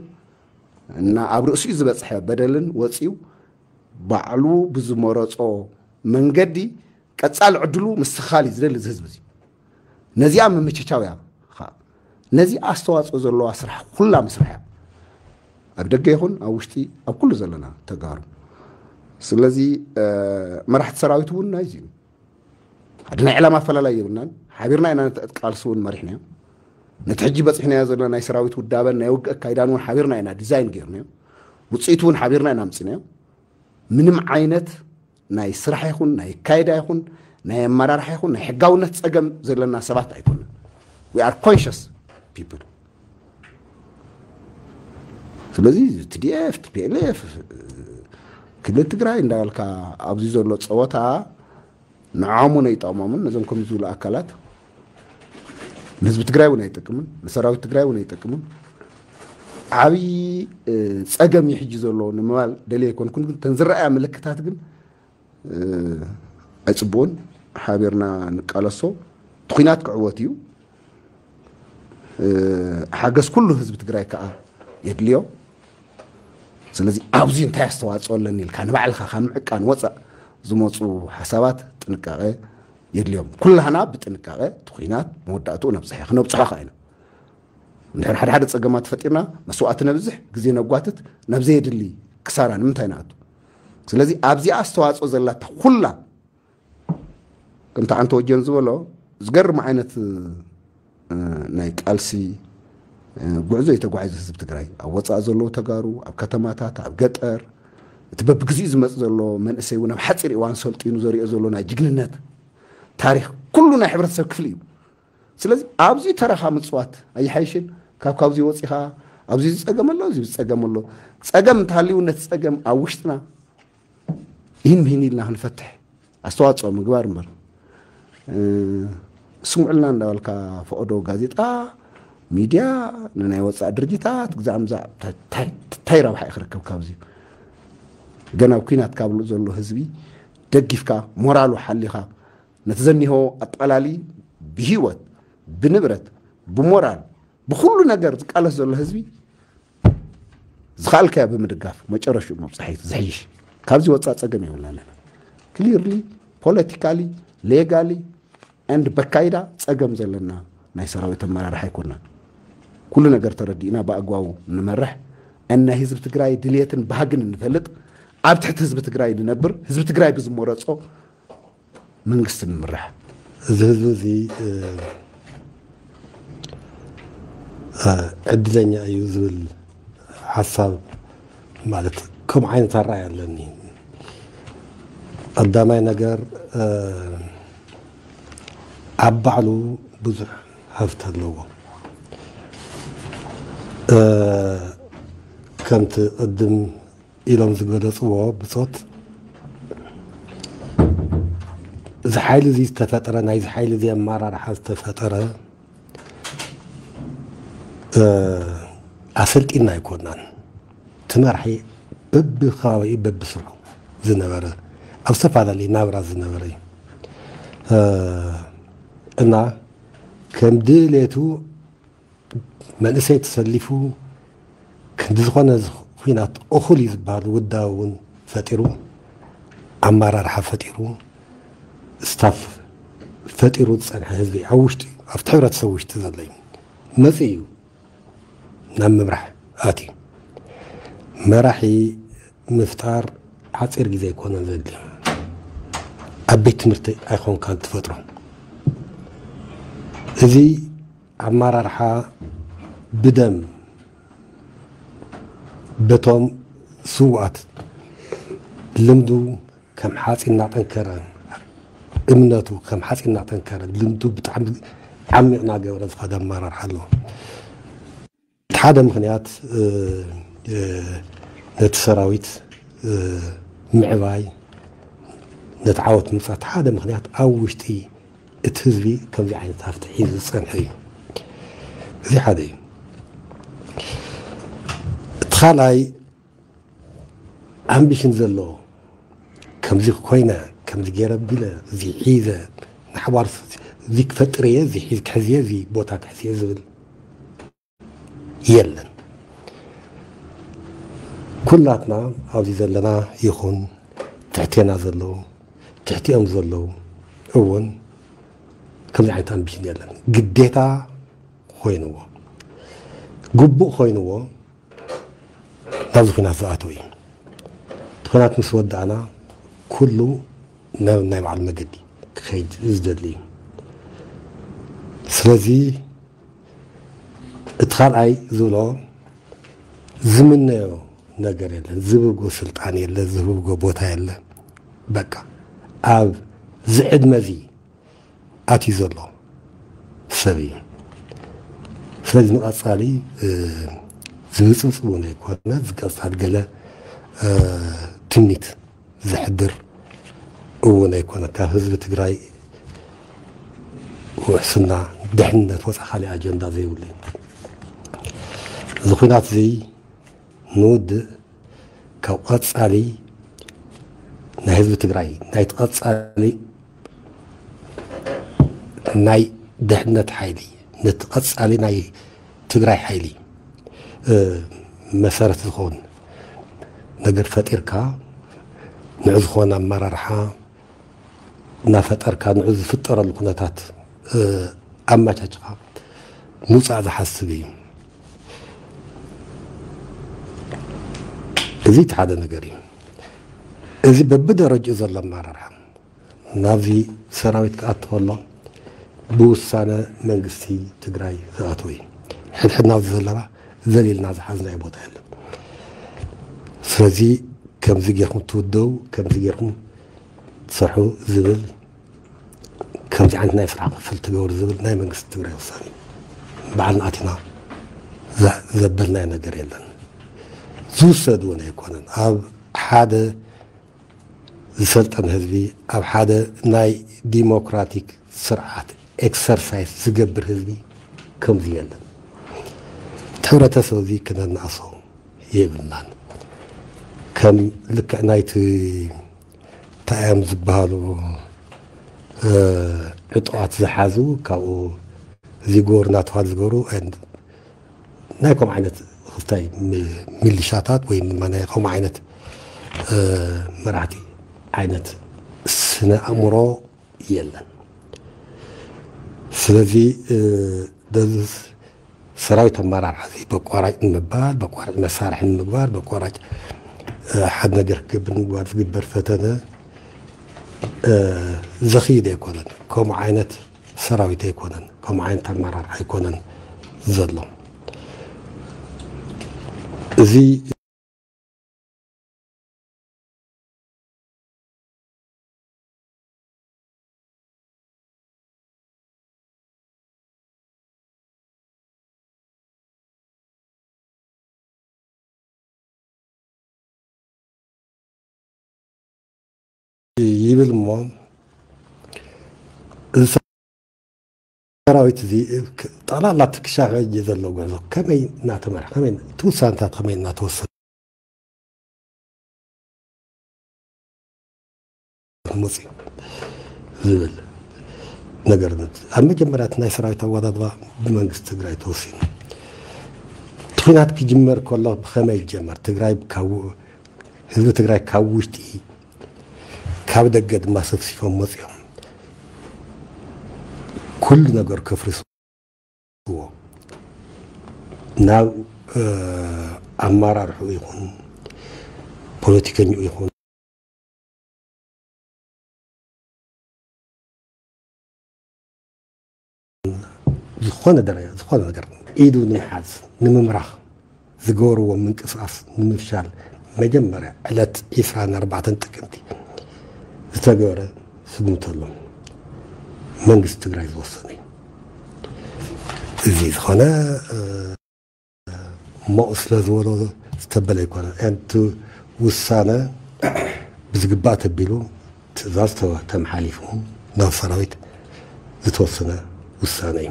እና ኣብ ርእሲኡ ዝበፅሐ በደልን ወፂኡ ባዕሉ ብዝመረጾ መንገዲ ቀጻሊ ዕድሉ ምስትኻል እዩ ዝደሊ እዚ ህዝቢ እዚ። ነዚኣ ምምችቻው እያ ኸዓ። ነዚ ኣስተዋጽኦ ዘለዋ ስራሕ ኩላ ምስራሕ እያ። ኣብ ደገ ይኹን ኣብ ውሽጢ ኣብ ኩሉ ዘለና ተጋሩ። ስለዚ፣ እ፣ መራሕቲ ሰራዊት እውን ናይዚ እዩ። ሓደ ናይ ዕላማ ኣፈላላይ የብልናን። ሓቢርና ኢና ነቲ ቃልሲ እውን መሪሕናዮ። ነቲ ሕጂ በፂሕናዮ ዘለና ናይ ሰራዊት ውዳበን ናይ ውግእ ኣካይዳን እውን ሓቢርና ኢና ዲዛይን ገይርናዮ። ውፅኢቱ እውን ሓቢርና ኢና ኣምፂናዮ። ምንም ዓይነት ናይ ስራሕ ይኹን ናይ ኣካይዳ ይኹን ናይ ኣመራርሓ ይኹን ናይ ሕጋውነት ጸገም ዘለና ሰባት ኣይኮንን። We are conscious people። ስለዚ ቲ ዲ ኤፍ፣ ቲ ፒ ኤል ኤፍ፣ ክልል ትግራይ እንዳበልካ ኣብዚ ዘሎ ጸወታ ንዖም እውን ኣይጠቕሞምን። ነዞም ከምዚ ዝብሉ ኣካላት ንህዝቢ ትግራይ እውን ኣይጠቅምን፣ ንሰራዊት ትግራይ እውን ኣይጠቅምን። ዓብዪ፣ እ፣ ጸገም እዩ ሕጂ ዘሎ ንምባል ደልየ ኣይኮንኩን፣ ግን እተን ዝረኣያ ምልክታት ግን፣ እ፣ ኣይጽቡቕን። ሓቢርና ንቃለሶ። እቲ ኹናት ክዕወት እዩ። እ፣ ሓገዝ ኩሉ ህዝቢ ትግራይ ከዓ የድልዮ። ስለዚ ኣብዚ እንታይ ኣስተዋፅኦ ኣለኒ ኢልካ ንባዕልኻ ካብ ምዕቃን ወፃእ ዝመፁ ሓሳባት ጥንቃቐ የድልዮም። ኩላህና ብጥንቃቐ እቲ ኹናት መወዳእትኡ ነብፅሐ፣ ክነብፅሖ ከዓ ኢና። እንድሕር ሓደ ሓደ ፀገማት ፈጢርና መስዋእቲ ነብዝሕ፣ ግዜ ነጓትት፣ ናብ ዘየድሊ ክሳራ ንምንታይ ንኣቱ? ስለዚ ኣብዚኣ ኣስተዋፅኦ ዘላታ ኩላ ከምቲ ዓንተ ወጀን ዝበሎ ዝገርም ዓይነት፣ እ፣ ናይ ቃልሲ፣ እ፣ ጉዕዞ እዩ ተጓዒዙ ህዝቢ ትግራይ። ኣብ ወፃኢ ዘለዉ ተጋሩ፣ ኣብ ከተማታት፣ ኣብ ገጠር፣ እቲ በብግዚኡ ዝመፅ ዘሎ መንእሰይ እውን ኣብ ሓፂር እዋን ሰልጢኑ ዘሪኦ ዘሎ ናይ ጅግንነት ታሪክ ኩሉ ናይ ሕብረተሰብ ክፍሊ እዩ። ስለዚ ኣብዚ ተረኻ ምፅዋት ኣይሓይሽን? ካብ ካብዚ ወፂኻ ኣብዚ ዝፀገም ኣሎ፣ እዚ ዝፀገም ኣሎ። ፀገም እንተሃልዩ ነቲ ፀገም ኣብ ውሽጥና ይህን ምሂን ኢልና ክንፈትሕ ኣስተዋፅኦ ምግባር እምበር፣ እ፣ ስምዑልና እንዳበልካ ፈቐዶ ጋዜጣ፣ ሚድያ፣ ንናይ ወፃኢ ድርጅታት ግዛዕ ምዛዕ ታይ፣ ታይ፣ ታይ ረብሓ እዩ ክርከብ ካብዚ? ገና ኣብ ኲናት ካብ ዘሎ ህዝቢ ደጊፍካ፣ ሞራሉ ሓሊኻ፣ ነቲ ዘኒሆ ኣጠቓላሊ ብህይወት፣ ብንብረት፣ ብሞራል፣ ብኹሉ ነገር ዝቃለስ ዘሎ ህዝቢ ዝኸኣልካዮ ብምድጋፍ መጨረሽኡ ምብፃሕ እዩ ዝሕይሽ። ካብዚ ወፃእ ፀገም የብልና ኣለና። ክሊርሊ፣ ፖለቲካሊ፣ ሌጋሊ፣ ኤንድ በካይዳ ፀገም ዘለና ናይ ሰራዊት ኣመራርሓ ኣይኮንና። ኩሉ ነገር ተረዲእና ብኣግባቡ ንመርሕ፣ እና ህዝቢ ትግራይ ድልየትን ባህግን እንፈልጥ፣ ኣብ ትሕቲ ህዝቢ ትግራይ ንነብር፣ ህዝቢ ትግራይ ብዝመረፆ መንግስቲ ንምራሕ። እዚ ህዝቢ እዚ፣ እ፣ እ፣ ዕድለኛ እዩ ዝብል ሓሳብ፣ ማለት ከምኡ ዓይነት ኣረኣእያ ኣለኒ። ቀዳማይ ነገር፣ እ፣ ኣብ ባዕሉ ብዙሕ ሃፍቲ ኣለዎ። እ፣ ከምቲ ቅድም ኢሎም ዝገለጽዎ ብጾት፣ እዚ ሓይሊ እዚ ዝተፈጠረ፣ ናይዚ ሓይሊ እዚ ኣመራርሓ ዝተፈጠረ፣ እ፣ ኣሰልጢና ኣይኮናን። እቲ መራሒ በብከባቢኡ በብስርሑ ዝነበረ፣ ኣብ ዝተፈላለየ ናብራ ዝነበረ እዩ። እ፣ እና ከም ድሌቱ መንእሰይ ተሰሊፉ ክንዲ ዝኾነ ዝ-፣ ኲናት እኹል እዩ ዝበሃል ውዳበ እውን ፈጢሩ፣ ኣመራርሓ ፈጢሩ፣ ስታፍ ፈጢሩ ዝጸንሐ ህዝቢ ኣብ ውሽጢ፣ ኣብቲ ሕብረተሰብ ውሽጢ ዘሎ እዩ። መጺኡ እዩ ናብ ምምራሕ ኣትዩ። መራሒ ምፍጣር ሓፂር ግዜ ኣይኮነን ዘድልዮ። ኣብ ቤት ትምህርቲ ኣይኮንካን ትፈጥሮ። እዚ ኣመራርሓ ብደም በቶም ስውኣት ልምዱ ከም ሓፂን እናጠንከረ፣ እምነቱ ከም ሓፂን እናጠንከረ፣ ልምዱ ብጣዕሚ ዓሚቕ እናገበረ ዝኸደ ኣመራርሓ ኣለዎ። እቲ ሓደ ምኽንያት፣ እ፣ እ፣ ነቲ ሰራዊት፣ እ፣ ምዕባይ፣ ነቲ ዓወት ምምፃእ፣ እቲ ሓደ ምኽንያት ኣብ ውሽጢ እቲ ህዝቢ ከምዚ ዓይነት ሃፍቲ ሒዙ ዝፀንሐ እዩ። እዚ ሓደ እዩ። እቲ ካልኣይ፣ ኣምቢሽን ዘለዎ፣ ከምዚ ኮይነ፣ ከምዚ ገይረ ቢለ፣ እዚ ሒዘ፣ ንሓባር እዚ ክፈጥር እየ፣ እዚ ሒዝ ክሕዝ እየ፣ እዚ ቦታ ክሕዝ እየ ዝብል የለን። ኩላትና ኣብዚ ዘለና ይኹን ትሕቴና ዘለዉ፣ ትሕቲኦም ዘለዉ እውን ከምዚ ዓይነት ኣምቢሽን የለን። ግዴታ ኮይንዎ፣ ግቡእ ኮይንዎ ናብዚ ኲናት ዝኣተው እዩ። እቲ ኲናት ምስ ወዳእና ኩሉ ናብ ናይ ባዕሉ መገዲ ክኸይድ ዝደሊ እዩ። ስለዚ እቲ ካልኣይ ዝብሎ ዝምነዮ ነገር የለን፣ ዝብጎ ስልጣን የለ፣ ዝብጎ ቦታ የለ። በቃ ኣብ ዝዕድመ እዚ ኣትዩ ዘሎ ሰብ እዩ። ስለዚ ንቐጻሊ፣ እ፣ ዝብጽብጽ እውን ኣይኮነ፣ ዝቀጻል ገለ፣ እ፣ ትምኒት ዘሕድር እውን ኣይኮነ። ካብ ህዝቢ ትግራይ ውሕስና፣ ድሕነት ወፃ ካልእ ኣጀንዳ ዘይብሉ እዩ። እዚ ኲናት እዚ ንውድእ ካብ ቀጻሊ ናይ ህዝቢ ትግራይ፣ ናይቲ ቀጻሊ ናይ ድሕነት ሓይሊ፣ ነቲ ቀጻሊ ናይ ትግራይ ሓይሊ፣ እ፣ መሰረት ዝኸውን ነገር ፈጢርካ፣ ንዑ ዝኾነ ኣመራርሓ እናፈጠርካ፣ ንዑ ዝፍጠረሉ ኩነታት፣ እ፣ ኣመቻችኻ ምውፃእ ዝሓስብ እዩ። እዚ እቲ ሓደ ነገር እዩ። እዚ በብደረጅኡ ዘሎ ኣመራርሓ ናብዚ ሰራዊት ክኣቱ ከሎ ብውሳነ መንግስቲ ትግራይ ዝኣተወ እዩ። ሕድሕድና ኣብዚ ዘለና ዘሊልና ዝሓዝናዮ ቦታ የለን። ስለዚ ከምዚ ጌርኩም ትውደው፣ ከምዚ ጌርኩም ትሰርሑ ዝብል፣ ከምዚ ዓይነት ናይ ስራሕ ክፍል ትገብሩ ዝብል ናይ መንግስቲ ትግራይ ውሳነ እዩ። ባዕልና ኣቲና ዘ-፣ ዘበልናዮ ነገር የለን። ዝውሰድ እውን ኣይኮነን። ኣብ ሓደ ዝሰልጠነ ህዝቢ፣ ኣብ ሓደ ናይ ዲሞክራቲክ ስርዓት ኤክሰርሳይዝ ዝገብር ህዝቢ ከምዚ የለን። እቲ ሕብረተሰብ እዚ ክነናእሶ የብልናን። ከም ልክዕ ናይቲ እንታይ እዮም ዝበሃሉ፣ እ፣ ዕጡቓት ዝሓዙ፣ ካብኡ እዚ ጎር እናተባህሉ ዝገብሩ፣ ናይ ከምኡ ዓይነት ክስታይ ሚ-፣ ሚሊሻታት ወይ ድማ ናይ ከምኡ ዓይነት፣ እ፣ መራሕቲ ዓይነት ስነ ኣእምሮ የለን። ስለዚ፣ እ፣ በዚ ሰራዊት ኣመራርሓ እዚ በቋራጭ ንምባል፣ በቋራጭ መሳርሒ ንምግባር፣ በቋራጭ፣ እ፣ ሓደ ነገር ክገብር ንምግባር ዝግበር ፈተነ፣ እ፣ ዘኽይድ ኣይኮነን። ከምኡ ዓይነት ሰራዊት ኣይኮነን፣ ከምኡ ዓይነት ኣመራርሓ ኣይኮነን ዘሎ። እዚ ይብል እሞ፣ እዚ ሰራዊት እዚ ጠቕላላ እቲ ክሻፈ እየ ዘሎ ጉዕዞ ከመይ እናተመርሐ፣ ከመይ እቲ ውሳነታት ከመይ እናተወሰነ መፅዩ ዝብል ነገር፣ ኣብ መጀመርያ እቲ ናይ ሰራዊት ኣወዳድባ ብመንግስቲ ትግራይ ተወሲኑ። እቲ ኩናት ክጅመር ከሎ ብኸመይ ይጀመር? ትግራይ ካብ፣ ህዝቢ ትግራይ ካብ ውሽጢ፣ ካብ ደገ ድማ ሰብሲፎም መፅዮም ኩሉ ነገር ከፍርስዎ፣ ናብ ኣማራርሑ ይኹን ፖለቲከኛ ይኹን ዝኾነ ደረጃ፣ ዝኾነ ነገር ኢዱ ንምሓዝ፣ ንምምራኽ ዝገበርዎ ምንቅስቃስ ንምፍሻል፣ መጀመርያ ዕለት ዒስራን ኣርባዕተን ጥቅምቲ ዝተገበረ ስጉምቲ ኣሎ። መንግስቲ ትግራይ ዝወሰነ እዩ። እዚ ዝኾነ እሞ ስለ ዝበሎ ዝተበለ ኣይኮነን። እቲ ውሳነ ብዝግባእ ተቢሉ ትእዛዝ ተመሓሊፉ ናብ ሰራዊት ዝተወሰነ ውሳነ እዩ።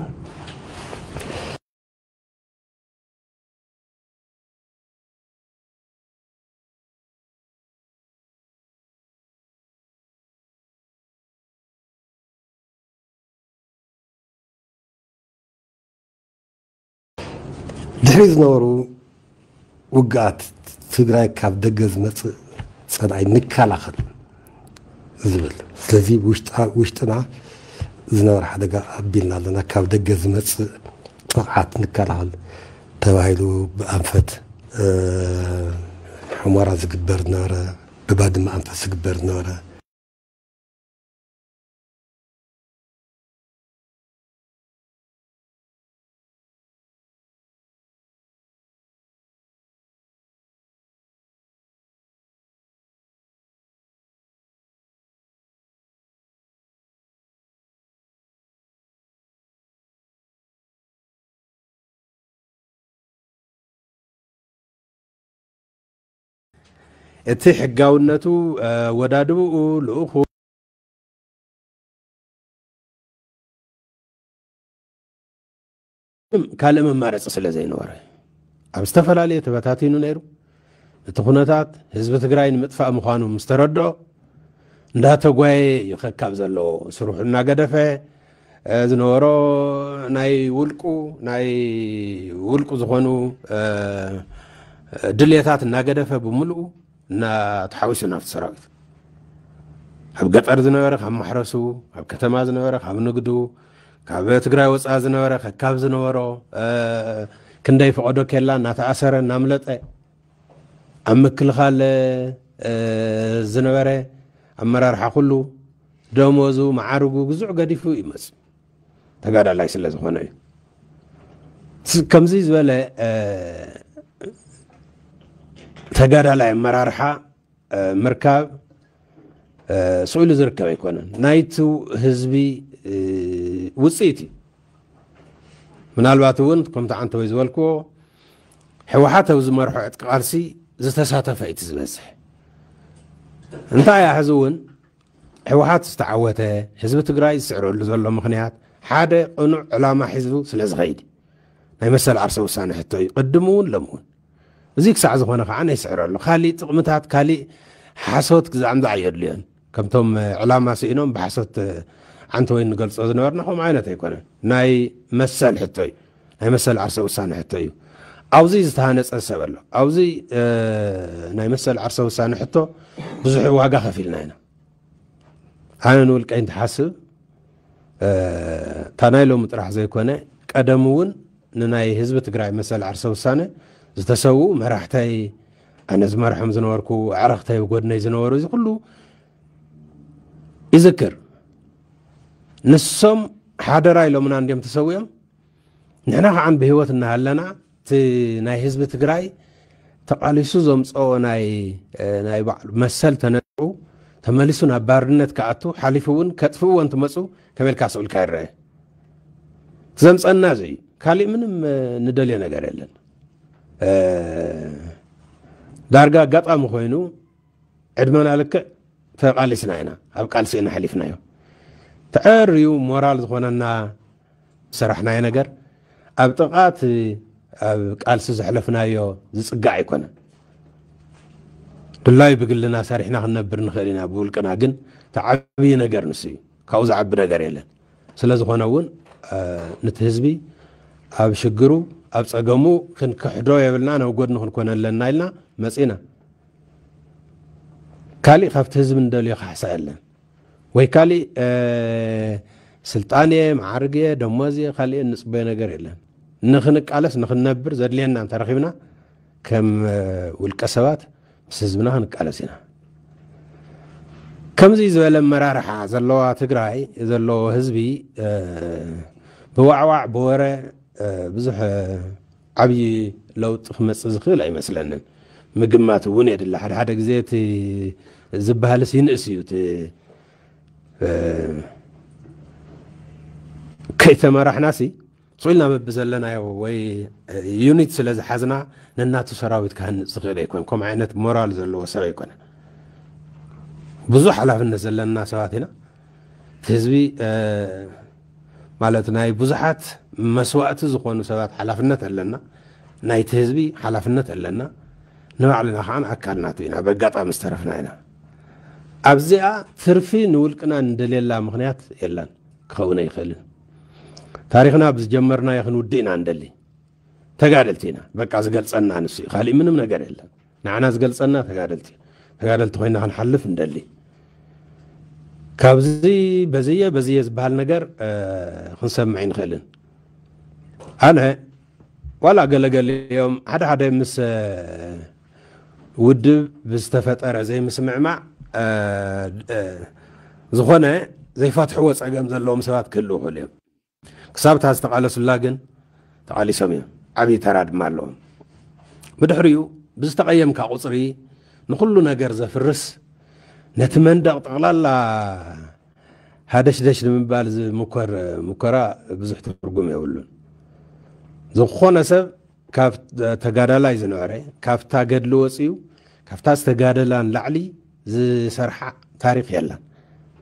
ድሕሪ ዝነበሩ ውግኣት ትግራይ ካብ ደገ ዝመፅእ ፀላኢ ንከላኸል ዝብል። ስለዚ ውሽጥና ዝነበረ ሓደጋ ኣቢልና ኣለና። ካብ ደገ ዝመፅእ ጥቕዓት ንከላኸል ተባሂሉ ብኣንፈት ሑመራ ዝግበር ዝነበረ፣ ብባድመ ኣንፈት ዝግበር ዝነበረ፣ እቲ ሕጋውነቱ፣ ወዳድብኡ፣ ልኡኹ ካልእ መማረፂ ስለ ዘይነበረ ኣብ ዝተፈላለየ ተበታቲኑ ነይሩ። እቲ ኩነታት ህዝቢ ትግራይ ንምጥፋእ ምዃኑ ምስ ተረድኦ እንዳተጓየ እዩ ከካብ ዘሎ ስርሑ እናገደፈ ዝነበሮ ናይ ውልቁ ናይ ውልቁ ዝኾኑ ድልየታት እናገደፈ ብምልኡ እናተሓዊሱ ናብቲ ሰራዊት ኣብ ገጠር ዝነበረ ካብ ማሕረሱ፣ ኣብ ከተማ ዝነበረ ካብ ንግዱ፣ ካብ ትግራይ ወፃኢ ዝነበረ ከካብ ዝነበሮ ክንደይ ፈቐዶ ኬላ እናተኣሰረ እናምለጠ ኣብ ምክልኻል ዝነበረ ኣመራርሓ ኩሉ ደሞዙ መዓርጉ ግዙዕ ገዲፉ ይመፅ ተጋዳላይ ስለ ዝኾነ እዩ። ከምዚ ዝበለ ተጋዳላይ ኣመራርሓ ምርካብ ስኢሉ ዝርከብ ኣይኮነን። ናይቲ ህዝቢ ውፅኢት እዩ። ምናልባት እውን ከምቲ ዓንተወይ ዝበልክዎ ህወሓት ኣብ ዝመርሖ ዕጥቂ ቃልሲ ዝተሳተፈ እዩ እቲ ዝበዝሕ። እንታይ እያ ሕዚ እውን ህወሓት ዝተዓወተ ህዝቢ ትግራይ ዝስዕረሉ ዘሎ ምኽንያት ሓደ ቅኑዕ ዕላማ ሒዙ ስለ ዝኸይድ ናይ መሰል ዓርሰ ውሳነ ሕቶ እዩ ቅድም እውን ሎም እውን። እዚ ክሳዕ ዝኾነ ከዓ ነይስዕረሉ ካሊእ ጥቕምታት ካሊእ ሓሶት ክዛዕምዛዕ የድልዮን። ከምቶም ዕላማ ስኢኖም ብሓሶት ዓንተ ወይ ንገልፆ ዝነበርና ከምኡ ዓይነት ኣይኮነን። ናይ መሰል ሕቶ እዩ። ናይ መሰል ዓርሰ ውሳነ ሕቶ እዩ። ኣብዚ ዝተሃነፀ ሰብ ኣሎ። ኣብዚ ናይ መሰል ዓርሰ ውሳነ ሕቶ ብዙሕ ዋጋ ከፊልና ኢና። ኣነ ንውልቀይ እንትሓስብ እታ ናይ ሎሚ ጥራሕ ዘይኮነ ቀደም እውን ንናይ ህዝቢ ትግራይ መሰል ዓርሰ ውሳነ ዝተሰውኡ መራሕተይ፣ ኣነ ዝመርሖም ዝነበርኩ ኣዕረኽተይ፣ ጎድነይ ዝነበሩ እዚ ኩሉ ይዝክር። ንሶም ሓደራ ኢሎምና እንዲዮም ተሰዊኦም። ንሕና ከዓ ብህይወት እናሃለና እቲ ናይ ህዝቢ ትግራይ ተቓሊሱ ዘምፀኦ ናይ ናይ ባዕሉ መሰል ተነጥቁ ተመሊሱ ናብ ባርነት ክኣቱ ሓሊፉ እውን ከጥፍእዎ እንትመፁ ከመልካ ስኡልካ ይረአ። ዘምፀና እዚ እዩ። ካሊእ ምንም ንደልዮ ነገር የለን። ዳርጋ ኣጋጣሚ ኮይኑ ዕድመና ልክዕ ተቓሊስና ኢና፣ ኣብ ቃልሲ ኢና ሓሊፍናዮ። ተዐርዩ ሞራል ዝኾነና ዝሰራሕናዮ ነገር ኣብ ጥቓት ኣብ ቃልሲ ዘሕለፍናዮ ዝጽጋዕ ኣይኮነን። ድላዩ ብግልና ሰሪሕና ክንነብር ንኽእል ኢና፣ ብውልቅና ግን ተዓብዪ ነገር ንሱ እዩ። ካብኡ ዝዓቢ ነገር የለን። ስለ ዝኾነ እውን ነቲ ህዝቢ ኣብ ሽግሩ ኣብ ጸገሙ ክንክሕዶ የብልና፣ ናብ ጎድኒ ክንኮነ ኣለና ኢልና መጺና። ካሊእ ካብቲ ህዝቢ እንደልዮ ካሕሳ የለን፣ ወይ ካሊእ ስልጣን እየ፣ መዓርግ እየ፣ ደሞዝ እየ፣ ካሊእ እንጽበዮ ነገር የለን። ንኽንቃለስ ንኽንነብር ዘድልየና እንተረኺብና ከም ውልቀ ሰባት ምስ ህዝብና ክንቃለስ ኢና። ከምዚ ዝበለ ኣመራርሓ ዘለዋ ትግራይ ዘለዎ ህዝቢ ብዋዕዋዕ ብወረ ብዙሕ ዓብዪ ለውጢ ክመፅእ ዝኽእል ኣይመስለንን። ምግማት እውን የድሊ። ሓደ ሓደ ግዜ እቲ ዝበሃልስ ይንእስ እዩ። እቲ ከይተመራሕናሲ ስቕ ኢልና በብዘለናዮ ወይ ዩኒት ስለ ዝሓዝና ነናቱ ሰራዊት ክሃንፅ ዝኽእል ኣይኮን። ከምኡ ዓይነት ሞራል ዘለዎ ሰብ ኣይኮነ። ብዙሕ ሓላፍነት ዘለና ሰባት ኢና። እቲ ህዝቢ ማለት ናይ ብዙሓት መስዋእቲ ዝኾኑ ሰባት ሓላፍነት ኣለና። ናይቲ ህዝቢ ሓላፍነት ኣለና። ንባዕልና ከዓ ኣካል ናቱ ኢና። በጋጣሚ ዝተረፍና ኢና። ኣብዚኣ ትርፊ ንውልቅና እንደልየላ ምኽንያት የለን፣ ክኸውን ኣይኽእልን። ታሪኽና ብዝጀመርናዮ ክንውድእ ኢና እንደሊ። ተጋደልቲ ኢና። በቃ ዝገልጸና ንሱ እዩ። ካሊእ ምንም ነገር የለን። ንዓና ዝገልጸና ተጋደልቲ ኢና። ተጋደልቲ ኮይና ክንሓልፍ እንደሊ። ካብዚ በዝየ በዝየ ዝበሃል ነገር ክንሰምዕ ኣይንኽእልን። ኣነ ዋላ ገለገሊኦም ሓደ ሓደ ምስ ውድብ ብዝተፈጠረ ዘይምስምዕማዕ ዝኾነ ዘይፈትሕዎ ጸገም ዘለዎም ሰባት ክህልዉ ይኽእሉ እዮም። ክሳብ እታ ዝተቓለሱላ ግን ተቓሊሶም እዮም። ዓብዪ ተራ ድማ ኣለዎም። ብድሕሪኡ ብዝተቐየምካ ቁፅሪ ንኹሉ ነገር ዘፍርስ፣ ነቲ መንደቕ ጠቕላላ ሃደሽደሽ ንምባል ዝምኮር ሙከራ ብዙሕ ትርጉም የብሉን። ዝኾነ ሰብ ካብ ተጋዳላይ ዝነበረ፣ ካብታ ገድሊ ወፂኡ ካብታ ዝተጋደላ ንላዕሊ ዝሰርሓ ታሪኽ የለን።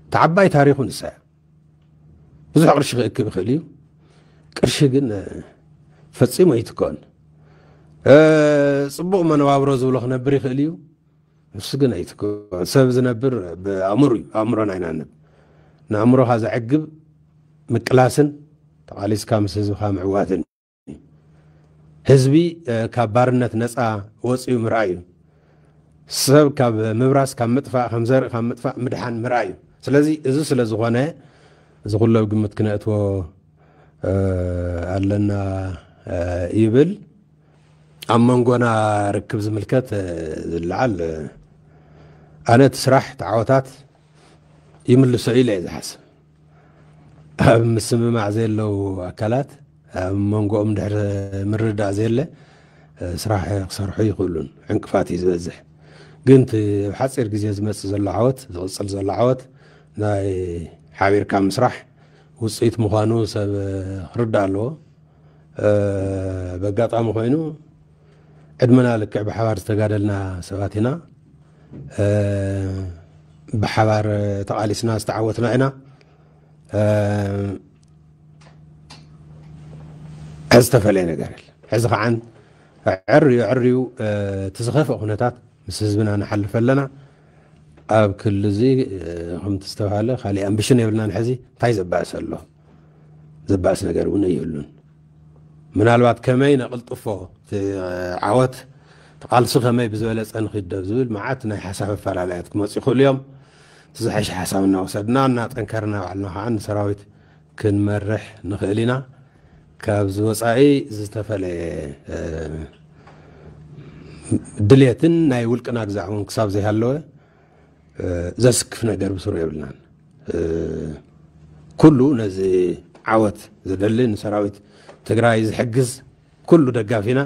እታ ዓባይ ታሪኹ ንሳ እያ። ብዙሕ ቅርሺ ክእክብ ይኽእል እዩ። ቅርሺ ግን ፈፂሙ ኣይትከኦን። ፅቡቕ መነባብሮ ዝብሎ ክነብር ይኽእል እዩ። ንሱ ግን ኣይትከኦን። ሰብ ዝነብር ብኣእምሮ እዩ። ኣእምሮ ናይና ነብ ንኣእምሮኻ ዘዕግብ ምቅላስን ተቓሊስካ ምስ ህዝብኻ ምዕዋትን እዩ። ህዝቢ ካብ ባርነት ነፃ ወፂኡ ምርኣይ እዩ። ሰብ ካብ ምብራስ፣ ካብ ምጥፋእ፣ ከም ዘርኢ ካብ ምጥፋእ ምድሓን ምርኣይ እዩ። ስለዚ እዚ ስለ ዝኾነ እዚ ኩሉ ኣብ ግምት ክነእትዎ ኣለና ይብል። ኣብ መንጎና ርክብ ዝምልከት ዝለዓል ኣነ እቲ ስራሕ ተዓወታት ይምልሶ ኢለ እየ ዝሓስብ። ኣብ ምስምማዕ ዘየለዉ ኣካላት ኣብ መንጎኦም ድሕሪ ምርዳእ ዘየለ ስራሕ ክሰርሑ ይኽእሉን ዕንቅፋት እዩ ዝበዝሕ። ግን እቲ ኣብ ሓፂር ግዜ ዝመፅእ ዘሎ ዓወት፣ ዝቕፅል ዘሎ ዓወት ናይ ሓቢርካ ምስራሕ ውፅኢት ምዃኑ ሰብ ክርዳእ ኣለዎ። በጋጣሚ ኮይኑ ዕድመና ልክዕ ብሓባር ዝተጋደልና ሰባት ኢና። ብሓባር ተቓሊስና ዝተዓወትና ኢና። ሕዚ ዝተፈለየ ነገር የለ። ሕዚ ከዓን ዕርዩ ዕርዩ እቲ ዝኸፍአ ኩነታት ምስ ህዝብና ንሓልፍ ኣለና። ኣብ ክሊ እዚ ከምቲ ዝተባሃለ ካሊእ ኣምቢሽን የብልናን። ሕዚ እንታይ ዘባእስ ኣሎ? ዘባእስ ነገር እውን ኣይህሉን። ምናልባት ከመይ ነቕልጥፎ እቲ ዓወት፣ እቲ ቃልሲ ከመይ ብዝበለፀ ንኺደብ ዝብል መዓት ናይ ሓሳብ ኣፈላለያት ክመፁ ይኽእሉ እዮም። እቲ ዝሐሸ ሓሳብ እናወሰድና እናጠንከርና ባዕልና ከዓ ንሰራዊት ክንመርሕ ንኽእል ኢና። ካብዚ ወፃኢ ዝተፈለየ ድልየትን ናይ ውልቅና ግዛዕ እውን ክሳብ ዘይሃለወ ዘስክፍ ነገር ብስሩ የብልናን። ኩሉ ነዚ ዓወት ዝደሊ ንሰራዊት ትግራይ ዝሕግዝ ኩሉ ደጋፊና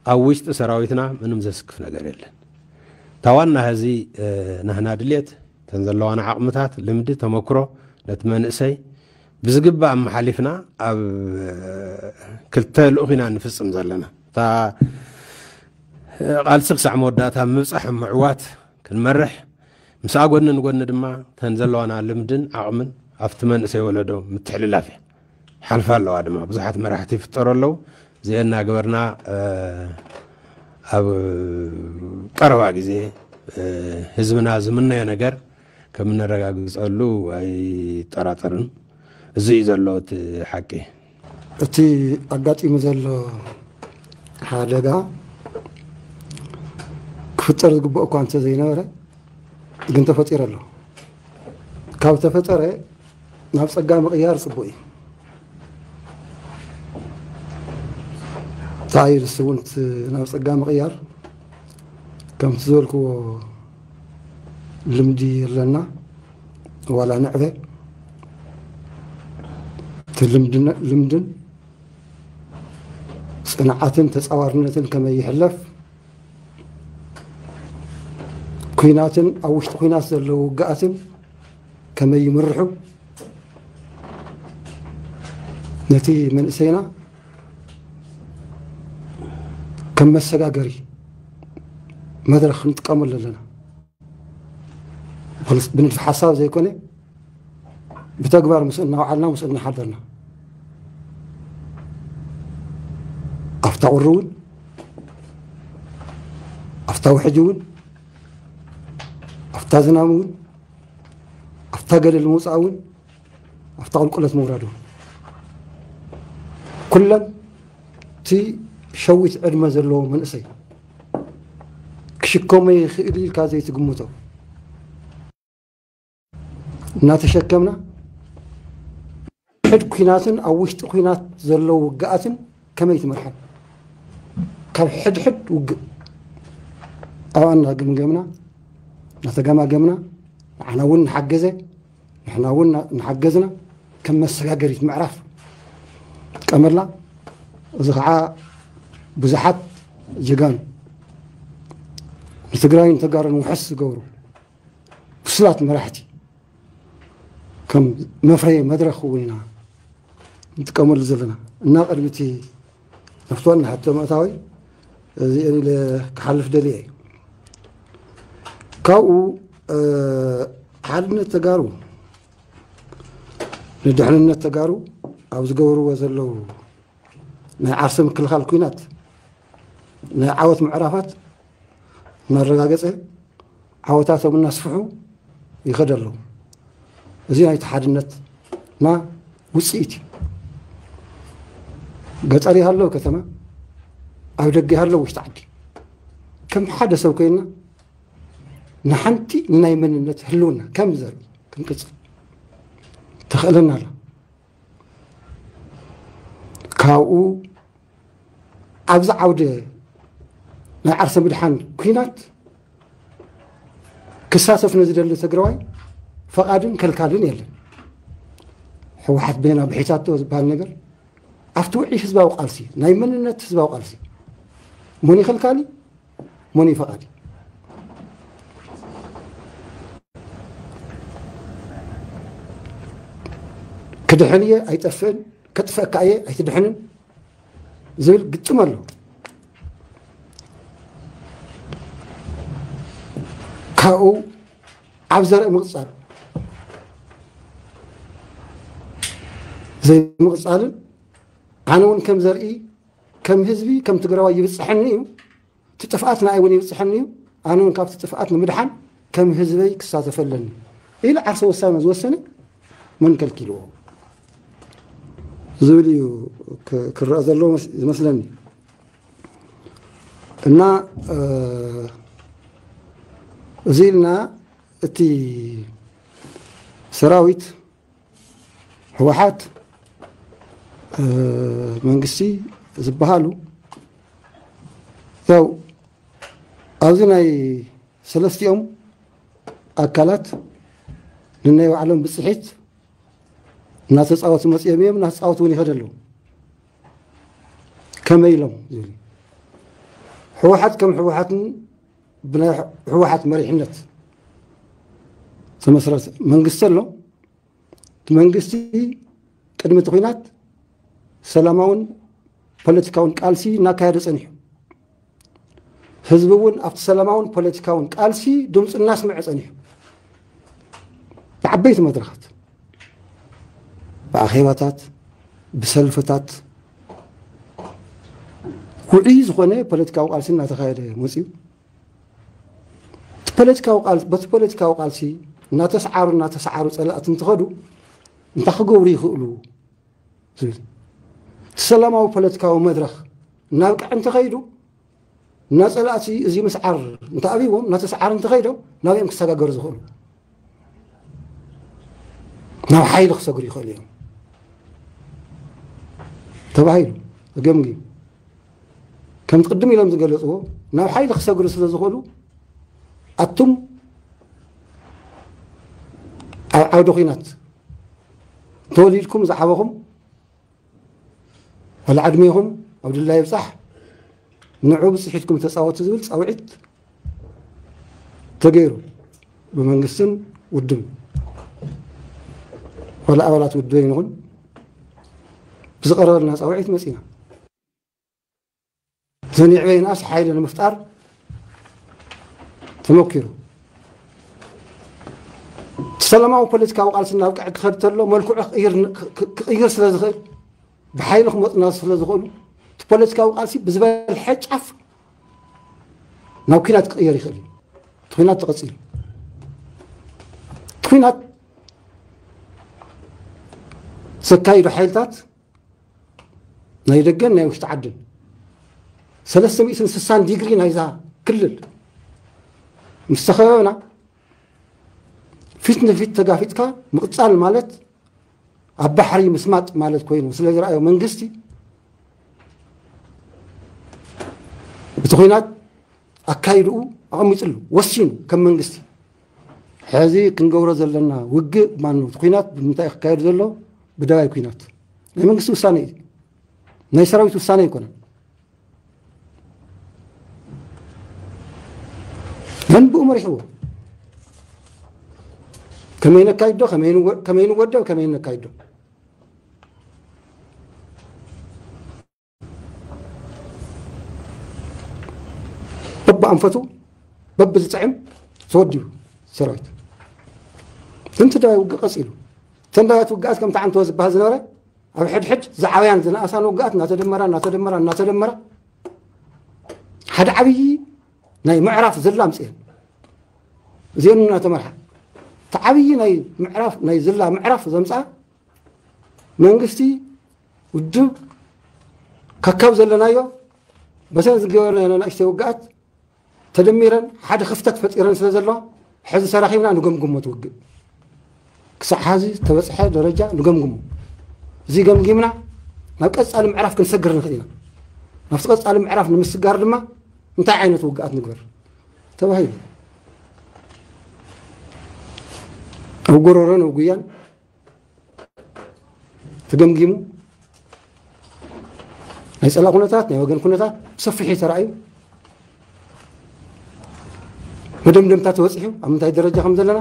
ኣብ ውሽጢ ሰራዊትና ምንም ዘስክፍ ነገር የለን። እታ ዋና ህዚ ናህና ድልየት እተን ዘለዋና ዓቕምታት፣ ልምዲ፣ ተመክሮ ነቲ መንእሰይ ብዝግባእ ኣመሓሊፍና ኣብ ክልተ ልኡኽ ኢና ንፍፅም ዘለና። እታ ቃልሲ ክሳዕ መወዳእታ ምብፃሕ ምዕዋት ክንመርሕ ምስኣ ጎኒ ንጎኒ ድማ እተን ዘለዋና ልምድን ዓቕምን ኣብቲ መንእሰይ ወለዶ ምትሕልላፍ እያ። ሓልፋ ኣለዋ ድማ ብዙሓት መራሕቲ ይፍጠሩ ኣለዉ። እዚአን እናገበርና ኣብ ቀረባ ግዜ ህዝብና ዝምነዮ ነገር ከም እነረጋግፀሉ ኣይጠራጠርን። እዚ እዩ ዘሎ እቲ ሓቂ። እቲ ኣጋጢሙ ዘሎ ሓደጋ ክፍጠር ዝግብኦ እኳ እንተዘይነበረ ግን ተፈጢሩ ኣሎ። ካብ ተፈጠረ ናብ ፀጋ ምቕያር ፅቡቅ እዩ። እንታይ ንሱ እውን እቲ ናብ ፀጋ ምቕያር ከምቲ ዝበልክዎ ልምዲ ኣለና ዋላ ንዕበ እቲ ልምድን ጽንዓትን ተጻዋርነትን ከመይ ይሕለፍ፣ ኲናትን ኣብ ውሽጢ ኲናት ዘለዉ ውግኣትን ከመይ ይምርሑ፣ ነቲ መንእሰይና ከም መሰጋገሪ መድረኽ ክንጥቀመሉ ኣለና። ብንድፊ ሓሳብ ዘይኮነ ብተግባር ምስ እናወዓልና ምስ እናሓደርና ኣብታ ቁሪ እውን ኣብታ ውሕጅ እውን ኣብታ ዝናም እውን ኣብታ ገደል ምውፃእ እውን ኣብታ ቁልቁለት ምውራድ እውን ኩለን እቲ ሸዊት ዕድመ ዘለዎ መንእሰይ ክሽከሞ ይኽእል ኢልካ ዘይትግምቶ እናተሸከምና ሕድ ኲናትን ኣብ ውሽጢ ኲናት ዘለዉ ውግኣትን ከመይ ትመርሐን ካብ ሕድሕድ ውግእ ኣብኣ እናገምገምና እናተገማገምና ንዓና እውን ንሓገዘ ንሕና እውን እናሓገዝና ከም መሰጋገሪት ምዕራፍ ጥቀመላ። እዚ ከዓ ብዙሓት ጀጋኑ ንትግራይን ተጋሩን ውሕስ ዝገብሩ ብሱላት መራሕቲ ከም መፍረየ መድረኽ እውን ኢና ንጥቀመሉ ዘለና እና ቅድሚ እቲ ናብቲ ዋና ሕቶ ምእታወይ እዚአን ኢለ ክሓልፍ ደልየ እዩ። ካብኡ ሓድነት ተጋሩ ንድሕንነት ተጋሩ ኣብ ዝገብርዎ ዘለዉ ናይ ዓርሰ ምክልኻል ኲናት ናይ ዓወት ምዕራፋት እናረጋገፀ ዓወታቶም እናስፍሑ ይኸዱ ኣለዉ። እዚ ናይቲ ሓድነትና ውፅኢት እዩ። ገጠር ይሃለዉ ከተማ፣ ኣብ ደገ ይሃለዉ ውሽጢ ዓዲ ከም ሓደ ሰብ ኮይንና ንሓንቲ ናይ መንነት ህልውና ከም ዘርኢ ክንቅፅል ተኽእለና ኣሎ። ካብኡ ኣብዚ ዓውደ ናይ ዓርሰ ምድሓን ኲናት ክሳተፍ ንዝደሊ ትግራዋይ ፈቓድን ከልካልን የለን። ህወሓት በይና ብሒታቶ ዝበሃል ነገር ኣብቲ ውዒ ህዝባዊ ቃልሲ ናይ መንነት ህዝባዊ ቃልሲ መን ይኸልካሊ መን ይፈቓዲ ክድሕን እየ ኣይጠፍእን ከጥፈእካ እየ ኣይትድሕንን ዝብል ግጥም ኣሎ። ካብኡ ኣብ ዘርኢ ምቕፃል ዘይምቕፃልን ኣነ እውን ከም ዘርኢ ከም ህዝቢ ከም ትግራዋይ ይብፅሐኒ እዩ እቲ ጥፍኣት ንኣይ እውን ይብፅሐኒ እዩ ኣነ እውን ካብቲ ጥፍኣት ንምድሓን ከም ህዝበይ ክሳተፈ ኣለኒ ኢሉ ዓርሰ ውሳነ ዝወሰነ መን ከልኪልዎ ዝብል እዩ ክረአ ዘለዎ ዝመስለኒ እና እዚ ኢልና እቲ ሰራዊት ህወሓት መንግስቲ ዝበሃሉ ያው ኣብዚ ናይ ሰለስቲኦም ኣካላት ንናይ ባዕሎም ብፅሒት እናተፃወቱ መፅኦም እዮም እናተፃወቱ እውን ይኸዱ ኣለዉ ከመይ ኢሎም ዝብል ህወሓት ከም ህወሓትን ብናይ ህወሓት መሪሕነት ዝተመስረተ መንግስቲ ኣሎ እቲ መንግስቲ ቅድሚ እቲ ኲናት ሰላማውን ፖለቲካውን ቃልሲ እናካየደ ፀኒሑ ህዝቢ እውን ኣብቲ ሰላማውን ፖለቲካውን ቃልሲ ድምፁ እናስምዐ ፀኒሑ ዓበይቲ መድረኻት ብኣኼባታት፣ ብሰልፍታት፣ ውዑይ ዝኾነ ፖለቲካዊ ቃልሲ እናተኻየደ መፅዩ። እቲ ፖለቲካዊ ቃል-፣ በቲ ፖለቲካዊ ቃልሲ እናተሰዓሩ እናተሰዓሩ ፀላእቲ እንትኸዱ እንታይ ክገብሩ ይኽእሉ ዝብል፣ እቲ ሰላማዊ ፖለቲካዊ መድረኽ እናብቅዐ እንተኸይዱ፣ እና ፀላእቲ እዚ ምስዓር እንተኣብይዎም፣ እናተሰዓሩ እንተኸይዶም፣ ናበይ እዮም ክሰጋገሩ ዝኽእሉ? ናብ ሓይሊ ክሰግሩ ይኽእሉ እዮም ተባሂሉ ተገምጊሙ። ከምቲ ቅድም ኢሎም ዝገለፅዎ፣ ናብ ሓይሊ ክሰግሩ ስለ ዝኽእሉ፣ ኣቱም ኣብ ዓውደ ኹናት ተወሊድኩም ዝዓበኹም፣ ዋላ ዕድሜኹም ኣብ ድላይ ይብፃሕ፣ ንዑ ብፅሒትኩም ተፃወቱ ዝብል ፃውዒት ተገይሩ ብመንግስትን ውድብን፣ ዋላ ኣባላት ውድብ ይንኹን ብዝቐረበልና ፃውዒት መፂና። ዘን ይዕበይናስ ሓይሊ ንምፍጣር ተመኪሩ። እቲ ሰላማዊ ፖለቲካዊ ቃልሲ ናብ ቀዕ ክኸድ ተሎ መልክዑ ክቕይር፣ ክቕይር ስለ ዝኽእል፣ ብሓይሊ ክመፁና ስለ ዝኽእሉ፣ እቲ ፖለቲካዊ ቃልሲ ብዝበልሐ ጫፍ ናብ ኲናት ክቕየር ይኽእል እዩ። እቲ ኲናት ተቐፂሉ። እቲ ኲናት ዘካይዱ ሓይልታት ናይ ደገን ናይ ውሽጢ ዓድን፣ ሰለስተ ሚእትን ስሳን ዲግሪ ናይዛ ክልል ምስ ተኸበብና፣ ፊት ንፊት ተጋፊጥካ ምቕፃል ማለት ኣብ ባሕሪ ምስማጥ ማለት ኮይኑ ስለ ዝረኣዮ መንግስቲ፣ እቲ ኲናት ኣካይድኡ ኣቐሚጥሉ፣ ወሲኑ ከም መንግስቲ። ሕዚ ክንገብሮ ዘለና ውግእ ማኑ፣ እቲ ኲናት ብምንታይ ክካየድ ዘሎ? ብደባይ ኲናት። ናይ መንግስቲ ውሳነ እዩ። ናይ ሰራዊት ውሳነ ኣይኮነን። መን ብኡ መሪሕዎ? ከመይ ነካይዶ? ከመይ ንወ-፣ ከመይ ንወደብ? ከመይ ነካይዶ? በብኣንፈቱ፣ በብዝጥዕም ተወዲቡ ሰራዊት። እተን ትግራይ ውግእ ቀፂሉ። እተን ዳያት ውግኣት ከምቲ ዓንተወ ዝበሃል ዝነበረ፣ ኣብ ሕድሕድ ዝዓበያን ዝነኣሳን ውግኣት እናተደመራ፣ እናተደመራ፣ እናተደመራ፣ ሓደ ዓብዪ ናይ ምዕራፍ ዝላ ኣምፅኤን። እዚአን እናተመርሓ፣ እቲ ዓብዪ ናይ ምዕራፍ፣ ናይ ዝላ ምዕራፍ ዘምፅኣ መንግስቲ፣ ውድብ፣ ከካብ ዘለናዮ በተን ዝገበርናዮ ንእሽተይ ውግኣት ተደሚረን ሓደ ክፍተት ፈጢረን ስለ ዘለዋ፣ ሕዚ ተራኺብና ንገምግሞ፣ ትውግእ ክሳዕ ሓዚ ዝተበፅሐ ደረጃ ንገምግሞ። እዚ ገምጊምና ናብ ቀፃሊ ምዕራፍ ክንሰግር ንኽእል ኢና። ናብቲ ቀፃሊ ምዕራፍ ንምስጋር ድማ እንታይ ዓይነት ውግኣት ንግበር ተባሂሉ፣ ኣብ ጎረሮን ኣብ ጉያን ተገምጊሙ፣ ናይ ጸላእ ኩነታት፣ ናይ ወገን ኩነታት ብሰፊሑ ተራእዩ፣ መደምደምታ ተበጺሑ፣ ኣብ ምንታይ ደረጃ ከም ዘለና፣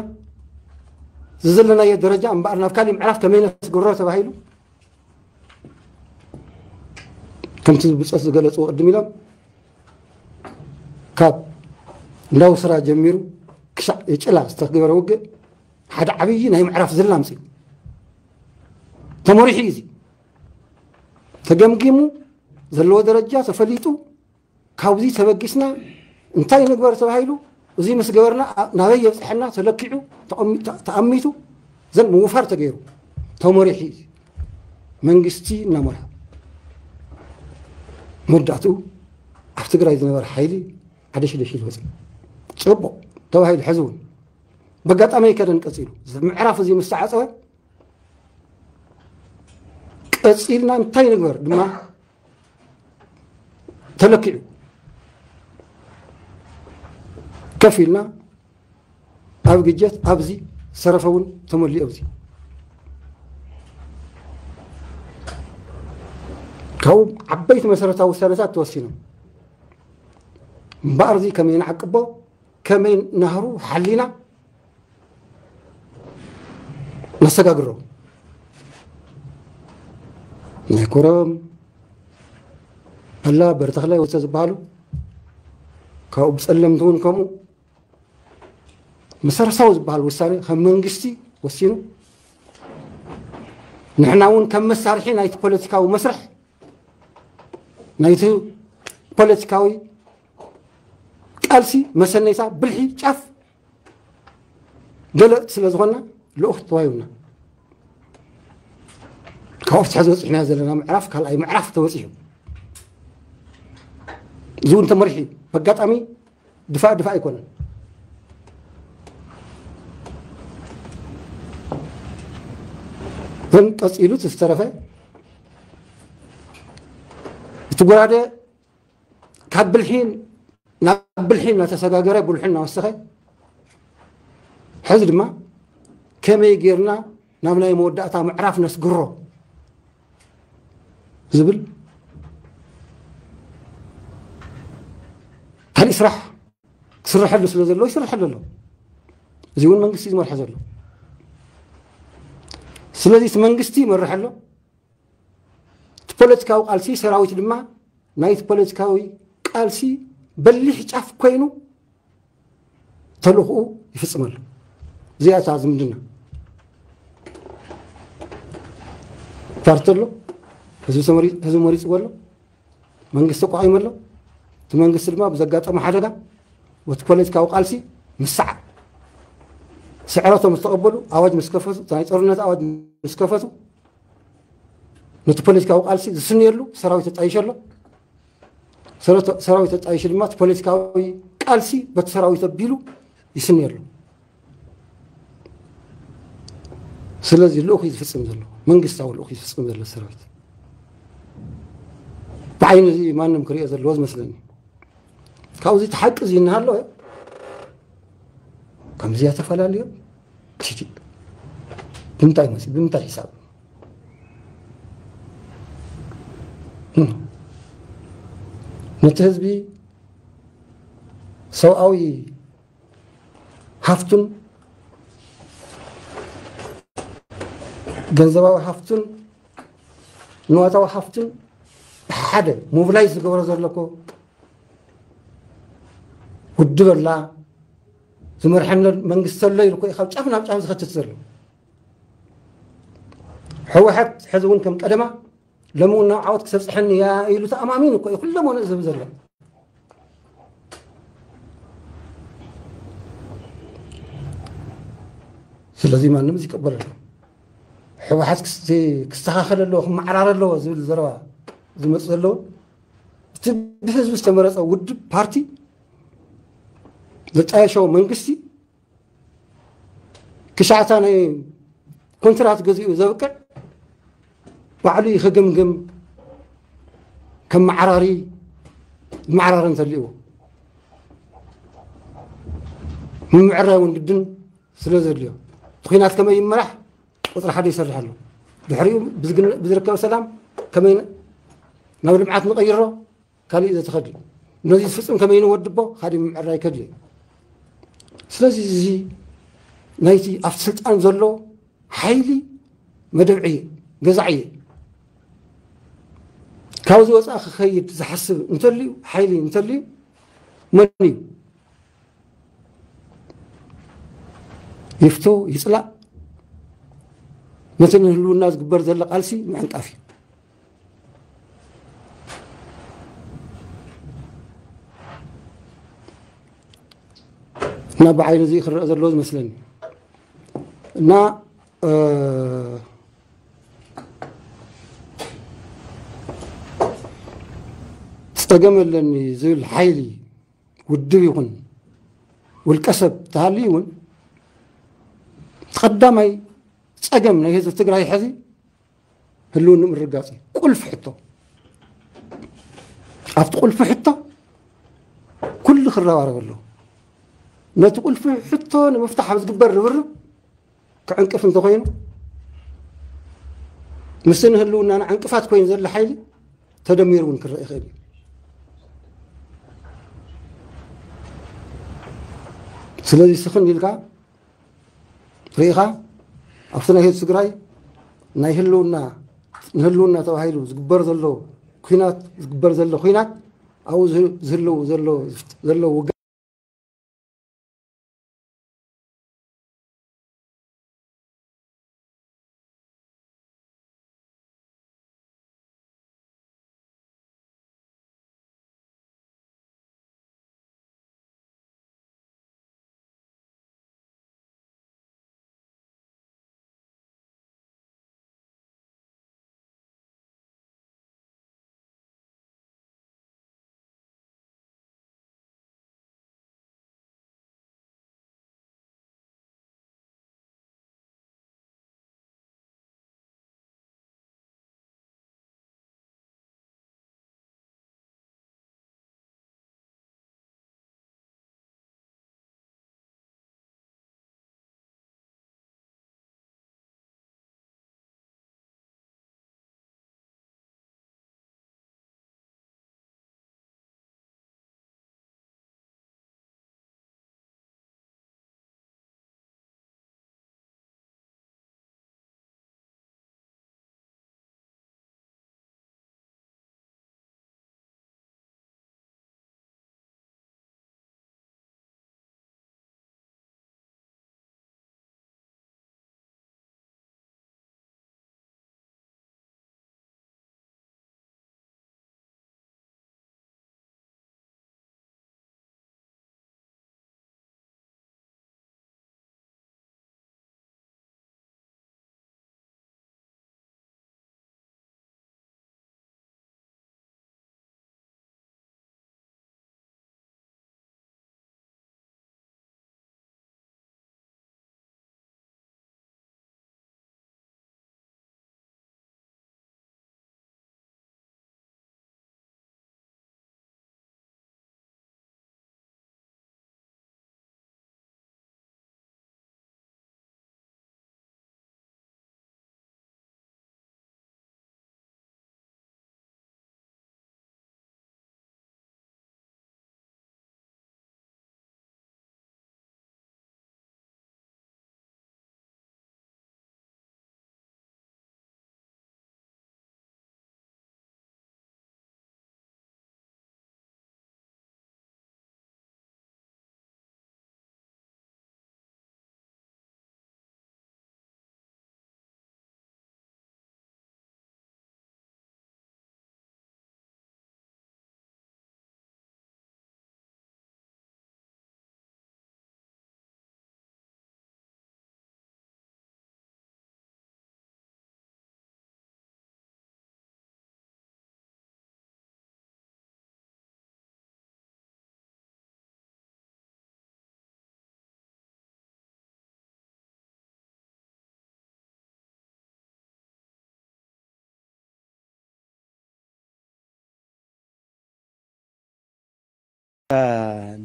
እዚ ዘለናዮ ደረጃ እምበኣር ናብ ካሊእ ምዕራፍ ከመይ ነስግሮ ተባሂሉ፣ ከምቲ ብጾት ዝገለጽዎ ቅድም ኢሎም፣ ካብ እንዳውስራ ጀሚሩ ክሻዕ የጭላ ዝተገበረ ውግእ ሓደ ዓብዪ ናይ ምዕራፍ ዝላ ኣምጺኡ። ተመሪሑ እዩ እዚ። ተገምጊሙ፣ ዘለዎ ደረጃ ተፈሊጡ፣ ካብዚ ተበጊስና እንታይ ንግበር ተባሂሉ፣ እዚ ምስ ገበርና ኣ-፣ ናበይ የብጽሐና ተለኪዑ፣ ተቐሚ-፣ ተ-፣ ተኣሚቱ፣ ዘን ምውፋር ተገይሩ፣ ተመሪሑ እዩ። መንግስቲ እናመርሐ፣ መወዳእትኡ ኣብ ትግራይ ዝነበረ ሓይሊ ዓደሽደሽ ኢሉ ወፂኡ። ፅቡቕ ተባሂሉ፣ ሕዚ እውን በጋጣሚ ኣይከደን ቀፂሉ። እዚ ምዕራፍ እዚ ምስ ተዓፀወ፣ ቀፂልና እንታይ ንግበር ድማ ተለኪዑ። ከፍ ኢልና ኣብ ግጀት፣ ኣብዚ ዝተረፈ እውን ተመሊኡ። ኣብዚ ካብኡ ዓበይቲ መሰረታዊ ውሳነታት ተወሲኖም። እምበኣር፣ እዚ ከመይ ንዓቅቦ፣ ከመይ ናህሩ ሓሊና ነሰጋግሮ። ናይ ኮረም፣ ኣላ፣ በርተኽላይ ወዘተ ዝበሃሉ፣ ካብኡ ብጸለምቲ እውን ከምኡ፣ መሰረታዊ ዝበሃል ውሳኔ ከም መንግስቲ ወሲኑ፣ ንሕና እውን ከም መሳርሒ ናይቲ ፖለቲካዊ መስርሕ፣ ናይቲ ፖለቲካዊ ቃልሲ መሰነይታ ብልሒ ጫፍ ገለጽ ስለ ዝኾንና፣ ልኡኽ ተዋሂቡና። ካብኡ ፍትሒ ዝበፅሕና ዘለና ምዕራፍ ካልኣይ ምዕራፍ ተበፂሑ። እዚ እውን ተመሪሑ እዩ። በጋጣሚ ድፋእ ድፋእ ኣይኮነን። ግን ቀፂሉ እቲ ዝተረፈ፣ እቲ ጎራደ ካብ ብልሒ ናብ ብልሒ እናተሰጋገረ፣ ብልሑ እናወሰኸ፣ ሕዚ ድማ ከመይ ጌርና ናብ ናይ መወዳእታ ምዕራፍ ነስግሮ ዝብል ካልእ ስራሕ ክስርሐሉ ስለ ዘሎ ይስርሐሉ ኣሎ። እዚ እውን መንግስቲ ዝመርሖ ዘሎ። ስለዚ እቲ መንግስቲ ይመርሕ ኣሎ። እቲ ፖለቲካዊ ቃልሲ፣ ሰራዊት ድማ ናይቲ ፖለቲካዊ ቃልሲ በሊሕ ጫፍ ኮይኑ ተልእኽኡ ይፍጽም ኣሎ። እዚኣ እታ ዝምድና። ፓርቲ ኣሎ፣ ህዝቢ ተመሪ-፣ ህዝቢ መሪጽዎ ኣሎ፣ መንግስቲ ኣቋቒሙ ኣሎ። እቲ መንግስቲ ድማ ብዘጋጠመ ሓደጋ፣ በቲ ፖለቲካዊ ቃልሲ ምስዓር፣ ስዕረቶም ዝተቐበሉ፣ ኣዋጅ ምስ ከፈቱ፣ ናይ ጦርነት ኣዋጅ ምስ ከፈቱ፣ ነቲ ፖለቲካዊ ቃልሲ ዝስንየሉ ሰራዊት ተጣይሹ ኣሎ። ሰራዊት፣ ሰራዊት ተጣይሹ ድማ እቲ ፖለቲካዊ ቃልሲ በቲ ሰራዊት ኣቢሉ ይስንየሉ። ስለዚ ልኡኽ እዩ ዝፍጽም ዘሎ፣ መንግስታዊ ልኡኽ እዩ ዝፍጽም ዘሎ ሰራዊት። ብዓይኒ እዚ ማንም ክሪኦ ዘለዎ ዝመስለኒ። ካብዚ እቲ ሓቂ እዚ እናሃለወ፣ ከምዚ እያ ተፈላልዮም፣ ክሽቲ። ብምንታይ መፂ-፣ ብምንታይ ሒሳብ? እም። ነቲ ህዝቢ ሰብኣዊ ሃፍቱን፣ ገንዘባዊ ሃፍቱን፣ ንዋታዊ ሃፍቱን ሓደ ሞቢላይዝ ዝገብሮ ዘሎ እኮ ውድብ ኣላ፣ ዝመርሐነ መንግስቲ ኣሎ ኢሉ እኮ እዩ ካብ ጫፍ ናብ ጫፍ ዝኸትት ዘሎ። ህወሓት ሕዚ እውን ከም ቀደማ፣ ሎሚ እውን ናብ ዓወት ክተብፅሐኒ እያ ኢሉ ተኣማሚኑ እኮ እዩ ኩሎም ወነ ዝህብ ዘሎ። ስለዚ ማንም ዝቀበል ኣሎ። ህወሓት ክስ-፣ ክስተኻኸል ኣለዎ፣ ክመዓራር ኣለዎ ዝብል ዘረባ ዝመፅእ ዘለውን፣ እቲ ብህዝቢ ዝተመረፀ ውድብ፣ ፓርቲ፣ ዘጣየሸዎ መንግስቲ፣ ክሻዕታ ናይ ኮንትራት ገዚኡ ዘብቅዕ ባዕሉ እዩ ክግምግም፣ ከመዓራሪ፣ መዓራሪ እንተልይዎ፣ ምምዕራይ እውን ግድን ስለ ዘድልዮ፣ እቲ ኲናት ከመይ ይመራሕ ቁፅሪ ሓደ ይሰርሕ ኣሎ። ድሕሪኡ ብዝግነ-፣ ብዝርከብ ሰላም ከመይ ን-፣ ናብ ልምዓት ንቐይሮ፣ ካልእ እዩ ዘተኸድል። ነዚ ዝፍፅም ከመይ ንወድቦ፣ ካሊእ ምምዕራይ ከድልዮ። ስለዚ እዚ ናይቲ ኣብቲ ስልጣን ዘሎ ሓይሊ መደብዒ እየ፣ ገዛዒ እየ። ካብዚ ወፃኢ ክኸይድ ዝሓስብ እንተልዩ፣ ሓይሊ እንተልዩ፣ መን እዩ? ይፍቶ ይፅላእ፣ ነቲ ንህልውና ዝግበር ዘሎ ቃልሲ ምዕንቃፍ እዩ። እና ብዓይኒ እዚ ክረአ ዘለዎ ዝመስለኒ። እና፣ እ፣ ፀገም ኣለኒ ዝብል ሓይሊ ውድብ ይኹን ውልቀ ሰብ ተሃልዩ እውን፣ ቀዳማይ ፀገም ናይ ህዝቢ ትግራይ ሕዚ ህልውንኡ ምርጋፅ እዩ። ቁልፊ ሕቶ። ኣብቲ ቁልፊ ሕቶ ኩሉ ክረባረብ ኣለዎ። ነቲ ቁልፊ ሕቶ ንምፍታሕ ኣብ ዝግበር ርብርብ ክዕንቅፍ እንተኾይኑ፣ ምስቲ ንህልውናና ዕንቅፋት ኮይኑ ዘሎ ሓይሊ ተደሚሩ እውን ክረአ ይኽእል እዩ። ስለዚ ስኽን ኢልካ ርኢኻ፣ ኣብቲ ናይ ህዝቢ ትግራይ ናይ ህልውና፣ ንህልውና ተባሂሉ ዝግበር ዘሎ ኲናት፣ ዝግበር ዘሎ ኲናት፣ ኣብኡ ዝህ-፣ ዝህልው ዘሎ፣ ዘሎ ውግእ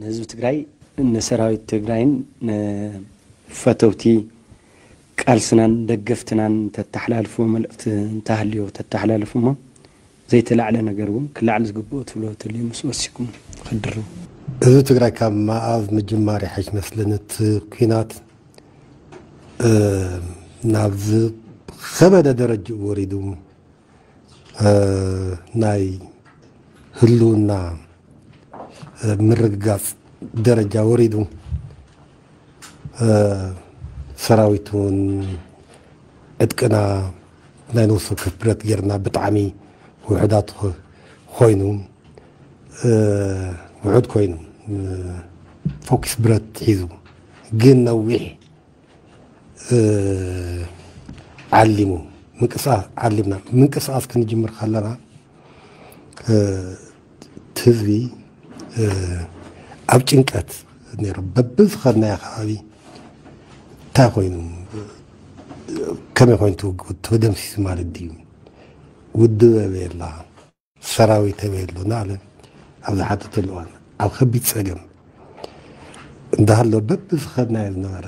ንህዝቢ ትግራይ፣ ንሰራዊት ትግራይን ንፈተውቲ ቃልስናን ደገፍትናን ተተሓላልፍዎ መልእኽቲ እንተሃልዮ ተተሓላልፉ እሞ፣ ዘይተላዕለ ነገር እውን ክላዕል ዝግብኦ ትብሎ ተልዩ ምስ ወሲኩም ክድርቡ። ህዝቢ ትግራይ ካብ መኣዝ ምጅማር ይሓይሽ መስለኒ እቲ ኲናት፣ እ፣ ናብ ዝኸበደ ደረጃ ወሪዱ፣ እ፣ ናይ ህልውና፣ እ፣ ምርግጋጽ ደረጃ ወሪዱ፣ እ፣ ሰራዊት እውን ዕጥቅና ናይ ነፍሲ ወከፍ ብረት ጌርና ብጣዕሚ ውሑዳት ኾ-፣ ኮይኑ፣ እ፣ ውሑድ ኮይኑ፣ እ፣ ፎኪስ ብረት ሒዙ ግን ነዊሕ፣ እ፣ ዓሊሙ ምንቅስቃስ ዓሊምና ምንቅስቃስ ክንጅምር ከለና፣ እ፣ እቲ ህዝቢ፣ እ፣ ኣብ ጭንቀት ነይሩ። በብዝኸድናዮ ከባቢ እንታይ ኮይኑ፣ ከመይ ኮይኑ ትውግኡ፣ ተደምሲሱ ማለት ድዩ? ውድብ ኣበይ ኣላ? ሰራዊት ኣበይ ኣሎ? እናበለ ኣብ ዝሓተተሉ እዋን፣ ኣብ ከቢድ ጸገም እንዳሃሎ፣ በብዝኸድናዮ ዝነበረ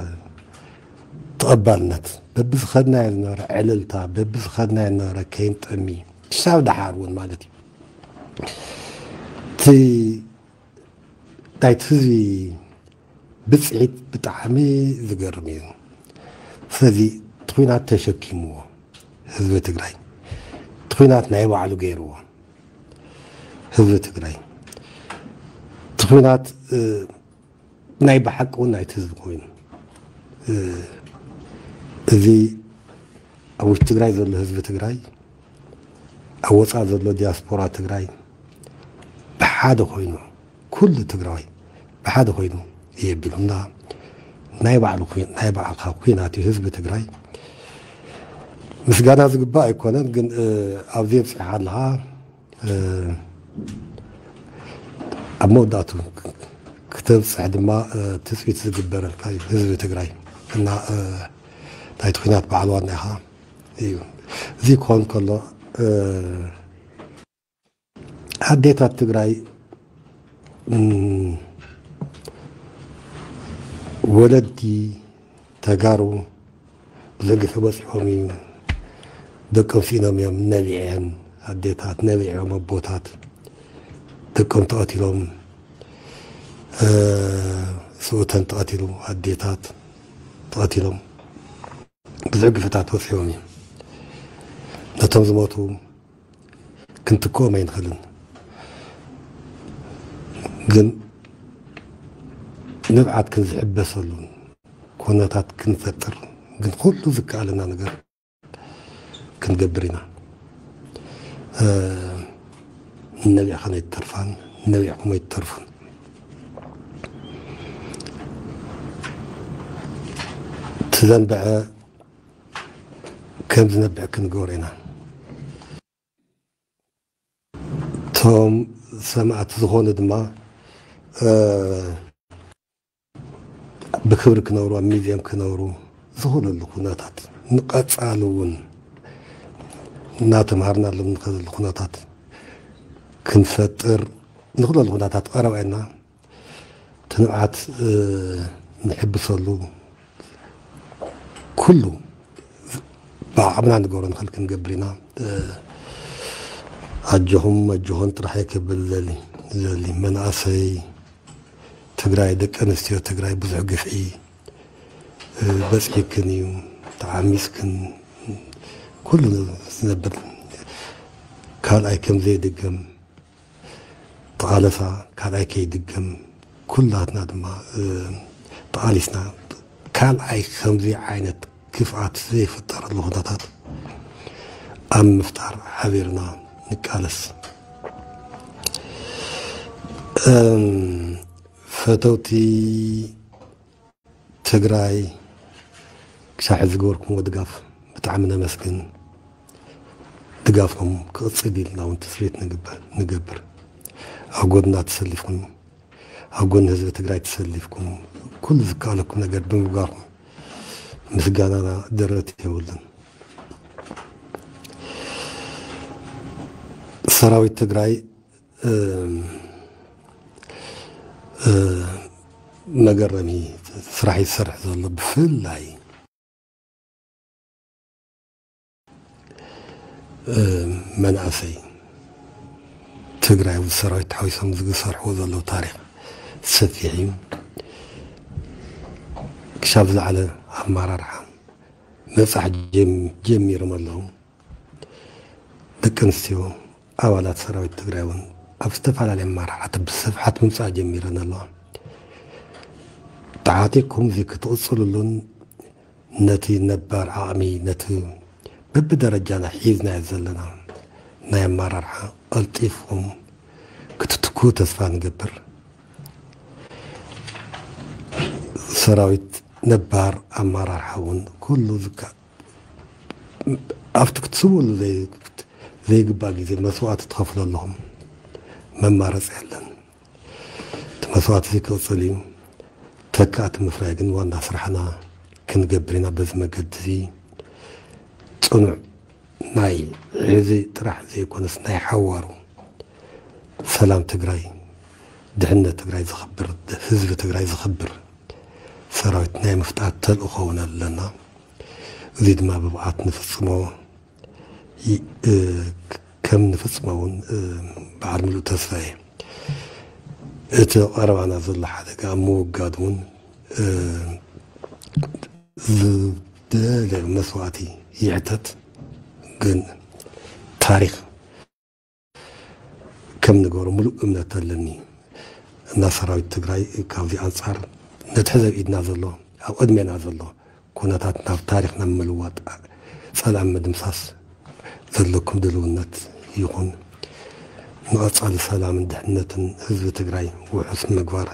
ተቐባልነት፣ በብዝኸድናዮ ዝነበረ ዕልልታ፣ በብዝኸድናዮ ዝነበረ ከይንጠሚ፣ ክሳብ ደሓር እውን ማለት እዩ። እቲ ናይቲ ህዝቢ ብፅዒት ብጣዕሚ ዝገርም እዩ። ስለዚ እቲ ኲናት ተሸኪምዎ ህዝቢ ትግራይ፣ እቲ ኲናት ናይ ባዕሉ ገይርዎ ህዝቢ ትግራይ፣ እቲ ኲናት፣ እ፣ ናይ ብሓቂ እውን ናይቲ ህዝቢ ኮይኑ፣ እ፣ እዚ ኣብ ውሽጢ ትግራይ ዘሎ ህዝቢ ትግራይ፣ ኣብ ወፃኢ ዘሎ ዲያስፖራ ትግራይ ብሓደ ኮይኑ፣ ኩሉ ትግራዋይ ብሓደ ኮይኑ የቢሉና ናይ ባዕሉ ኩ-፣ ናይ ባዕልካ ኩናት እዩ ህዝቢ ትግራይ። ምስጋና ዝግባእ ኣይኮነን፣ ግን፣ እ፣ ኣብዚ ኣብፂሓ ኣለኻ፣ እ፣ ኣብ መወዳእቱ ክተብፅሕ ድማ፣ እ፣ ትፅቢት ዝግበረልካ እዩ ህዝቢ ትግራይ። እና፣ እ፣ ናይቲ ኩናት በዓል ዋና ኢኻ እዩ። እዚ ክኾን ከሎ፣ እ፣ ኣዴታት ትግራይ፣ እም፣ ወለዲ ተጋሩ ብዙሕ ግፍዒ በፂሖም እዩ። ደቆም ስኢኖም እዮም፣ ነቢዐን ኣዴታት፣ ነቢዖም ኣቦታት፣ ደቆም ተቐቲሎም፣ እ፣ ስውእተን ተቐቲሉ፣ ኣዴታት ተቐቲሎም፣ ብዙሕ ግፍዕታት በፂሖም እዮም። ነቶም ዝሞቱ ክንትክኦም ኣይንኽእልን። ግን ንብዓት ክንዝሕበሰሉን ኩነታት ክንፈጥር ግን ኩሉ ዝከኣለና ነገር ክንገብር ኢና። እ፣ ነቢዕኸን ኣይትተርፋን፣ ነቢዕኩም ኣይትተርፉን። እቲ ዘንበዐ ከም ዝነብዕ ክንገብሮ ኢና። እቶም ሰማዕቲ ዝኾኑ ድማ፣ እ፣ ብክብሪ ክነብሩ፣ ኣብ ሚዚየም ክነብሩ ዝኽእለሉ ኩነታት፣ ንቐጻሊ እውን እናተምሃርናሎም ንኸደሉ ኩነታት ክንፈጥር ንኽእለሉ ኩነታት ቀረባ ኢና። እቲ ንብዓት፣ እ፣ ንሕብሰሉ ኩሉ ብዓቕምና ንገብሮ ንኽእል ክንገብር ኢና። እ፣ ኣጆኹም ኣጆኹን ጥራሕ እየ ክብል ዘሊ፣ ዘሊ መናእሰይ ትግራይ፣ ደቂ ኣንስትዮ ትግራይ ብዙሕ ግፍዒ፣ እ፣ በፂሕክን እዩ፣ ተዓሚፅክን፣ ኩሉ ዝነብር ካልኣይ ከም ዘይድገም ተቓለሳ፣ ካልኣይ ከይድገም ኩላትና ድማ፣ እ፣ ተቓሊስና ካልኣይ ከምዚ ዓይነት ክፍኣት ዘይፍጠረሉ ኩነታት ኣብ ምፍጣር ሓቢርና ንቃለስ። እም፣ ፈተውቲ ትግራይ ክሳብ ሕዚ ዝገበርኩምዎ ድጋፍ ብጣዕሚ ነመስግን። ድጋፍኩም ክቕፅል ኢልና እውን ትፅቢት ንግበር፣ ንገብር። ኣብ ጎድና ተሰሊፍኩም፣ ኣብ ጎኒ ህዝቢ ትግራይ ተሰሊፍኩም፣ ኩሉ ዝከኣለኩም ነገር ብምግባርኩም ምስጋናና ደረት የብሉን። ሰራዊት ትግራይ፣ እም፣ መገረሚ ስራሕ ይሰርሕ ዘሎ። ብፍላይ መናእሰይ ትግራይ ምስ ሰራዊት ተሓዊሶም ዝሰርሕዎ ዘለዉ ታሪኽ ሰፊሕ እዩ። ክሻብ ዝለዓለ ኣመራርሓ ምብፃሕ ጀሚሮም ኣለዉ። ደቂ ኣንስትዮ ኣባላት ሰራዊት ትግራይ እውን ኣብ ዝተፈላለየ ኣመራርሓ ብስፍሓት ምምፃእ ጀሚረን ኣለዋ። ተዓጢቕኩም እዚ ክትቕፅልሉን ነቲ ነባር ዓቕሚ፣ ነቲ በብደረጃና ሒዝናዮ ዘለና ናይ ኣመራርሓ ቀልጢፍኩም ክትትክኡ ተስፋ ንገብር። ሰራዊት ነባር ኣመራርሓ እውን ኩሉ ዝካ ኣብቲ ክትስውሉ ዘይግባእ ግዜ መስዋእቲ ትኸፍሉ ኣለኹም። መማረፂ የለን። እቲ መስዋእቲ እዚ ክቕፅል እዩ። ተካእቲ ምፍራይ ግን ዋና ስራሕና ክንገብር ኢና። በዚ መገዲ እዚ ፅኑዕ ናይ ሕዚ ጥራሕ ዘይኮነስ ናይ ሓዋሩ ሰላም ትግራይ፣ ድሕነት ትግራይ ዘኽብር፣ ህዝቢ ትግራይ ዘኽብር ሰራዊት ናይ ምፍጣር ተልእኾ እውን ኣለና። እዚ ድማ ብብቕዓት ንፍፅሞ ይ-፣ እ፣ ከም ንፍፅሞ እውን፣ እ፣ በዓል ምሉእ ተስፋ እየ። እቲ ቀረባና ዘሎ ሓደጋ ኣብ ምውጋድ እውን፣ እ፣ ዝደለ መስዋእቲ ይሕተት። ግን ታሪኽ ከም ንገሮ ምሉእ እምነት ኣለኒ እና ሰራዊት ትግራይ ካብዚ ኣንጻር ነቲ ሕዚ ኣብ ኢድና ዘሎ፣ ኣብ ቅድሜና ዘሎ ኩነታት ናብ ታሪኽ ናብ ምልዋጥ፣ ጸላም ምድምሳስ ዘለኩም ድልውነት ይኹን። ንቐጻሊ ሰላምን ድሕነትን ህዝቢ ትግራይ ውሑስ ምግባር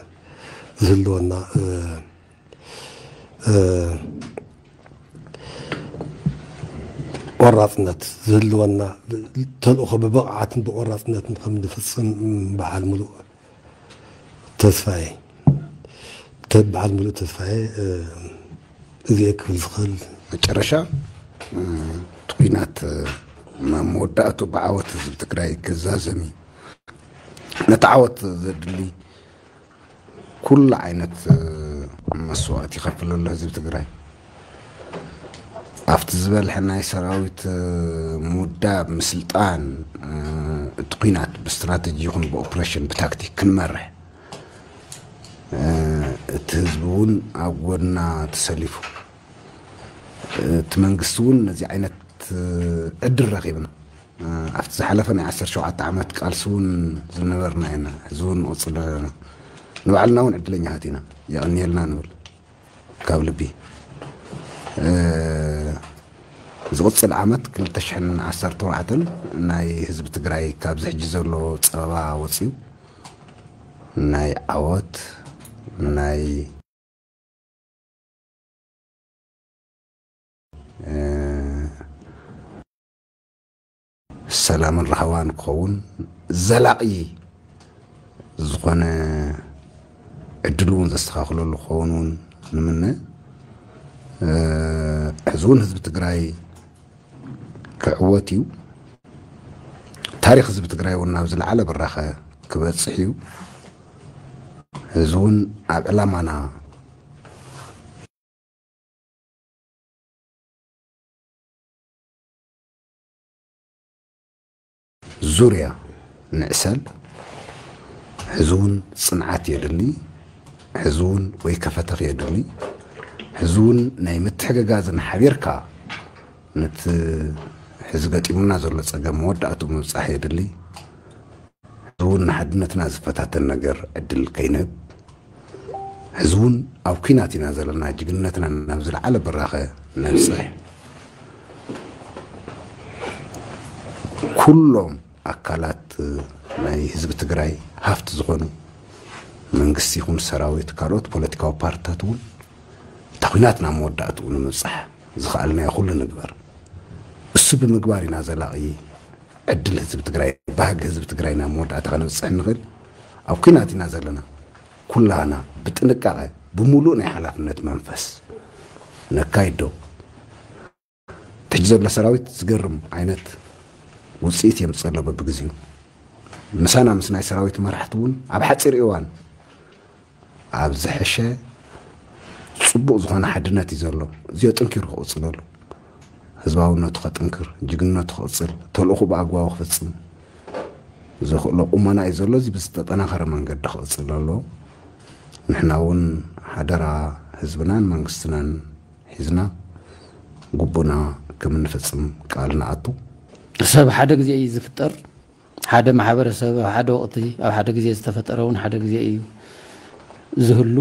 ዝህልወና፣ እ፣ እ፣ ቆራጽነት ዝህልወና፣ ተልእኾ ብብቕዓትን ብቆራጽነትን ከም ንፍጽም በዓል ምሉእ ተስፋዬ፣ ተ-፣ በዓል ምሉእ ተስፋዬ፣ እ፣ እዚኤ ክብል ዝኽእል። መጨረሻ፣ እ፣ እቲ ኲናት፣ እ፣ ናብ መወዳእቱ ብዓወት ህዝቢ ትግራይ ክዛዘም እዩ። ነቲ ዓወት ዘድሊ ኩሉ ዓይነት፣ እ፣ መስዋእቲ ይኸፍል ኣሎ ህዝቢ ትግራይ። ኣብቲ ዝበልሐ ናይ ሰራዊት፣ እ፣ ምውዳብ፣ ምስልጣን፣ እ፣ እቲ ኲናት ብስትራተጂ ይኹን ብኦፕሬሽን፣ ብታክቲክ ክንመርሕ፣ እ፣ እቲ ህዝቢ እውን ኣብ ጎድና ተሰሊፉ፣ እ፣ እቲ መንግስቲ እውን ነዚ ዓይነት፣ እ፣ ዕድል ረኺብና። እ፣ ኣብቲ ዝሓለፈ ናይ ዓሰርተ ሸውዓተ ዓመት ቃልሲ እውን ዝነበርና ኢና። ሕዚ እውን ንቕጽል ኣለና። ንባዕልና እውን ዕድለኛታት ኢና። የቐንየልና ንብል ካብ ልቢ። እ፣ ዝቕጽል ዓመት ክልተ ሽሕን ዓሰርተ ኣርባዕተን ናይ ህዝቢ ትግራይ ካብዚ ሕጂ ዘሎ ጸበባ ወጺኡ ናይ ዓወት፣ ናይ እ፣ ሰላምን ራህዋን ክኸውን፣ ዘላቒ ዝኾነ ዕድል እውን ዘስተኻኽለሉ ክኸውን እውን ንምነ። እ፣ ሕዚ እውን ህዝቢ ትግራይ ክዕወት እዩ። ታሪኽ ህዝቢ ትግራይ እውን ናብ ዝለዓለ ብራኸ ክበጽሕ እዩ። ሕዚ እውን ኣብ ዕላማና ዙርያ ንዕሰል። ሕዚ እውን ጽንዓት የድሊ። ሕዚ እውን ወይ ከፈተኽ የድሊ። ሕዚ እውን ናይ ምትሕግጋዝን ሓቢርካ ነቲ ሕዚ ገጢሙና ዘሎ ጸገም መወዳእትኡ ምብጻሕ የድሊ። ሕዚ እውን ንሓድነትና ዝፈታተን ነገር ዕድል ከይንህብ፣ ሕዚ እውን ኣብ ኲናት ኢና ዘለና፣ ጅግንነትና ናብ ዝለዓለ ብራኸ ነብጽሕ። ኩሎም ኣካላት ናይ ህዝቢ ትግራይ ሃፍቲ ዝኾኑ መንግስቲ ይኹን ሰራዊት፣ ካልኦት ፖለቲካዊ ፓርትታት እውን እታ ኲናት ናብ መወዳእትኡ ንምብጻሕ ዝኸኣልናዮ ኩሉ ንግበር። እሱ ብምግባር ኢና ዘላቒ ዕድል ህዝቢ ትግራይ፣ ባህጊ ህዝቢ ትግራይ ናብ መወዳእታ ከነብፅሕ እንኽእል። ኣብ ኲናት ኢና ዘለና። ኩላህና ብጥንቃቐ፣ ብምሉእ ናይ ሓላፍነት መንፈስ ነካይድ ዶ። እቲ ሕጂ ዘሎ ሰራዊት ዝገርም ዓይነት ውፅኢት የምፅእ ኣሎ በብግዜኡ። ምሳና ምስ ናይ ሰራዊት መራሕቲ እውን ኣብ ሓፂር እዋን ኣብ ዝሐሸ ጽቡቕ ዝኾነ ሓድነት እዩ ዘሎ። እዚኦ ጥንኪሩ ክቕጽለሉ፣ ህዝባውነቱ ከጥንክር፣ ጅግንነቱ ክቕጽል፣ ተልእኹ ብኣግባቡ ክፍጽም ዘኽእሎ ቁመና እዩ ዘሎ። እዚ ብዝተጠናኸረ መንገዲ ክቕጽል ኣለዎ። ንሕና እውን ሓደራ ህዝብናን መንግስትናን ሒዝና ግቡና ከም እንፍጽም ቃል ንኣቱ። ሰብ ሓደ ግዜ እዩ ዝፍጠር። ሓደ ማሕበረሰብ ኣብ ሓደ ወቕቲ ኣብ ሓደ ግዜ ዝተፈጠረ እውን ሓደ ግዜ እዩ ዝህሉ።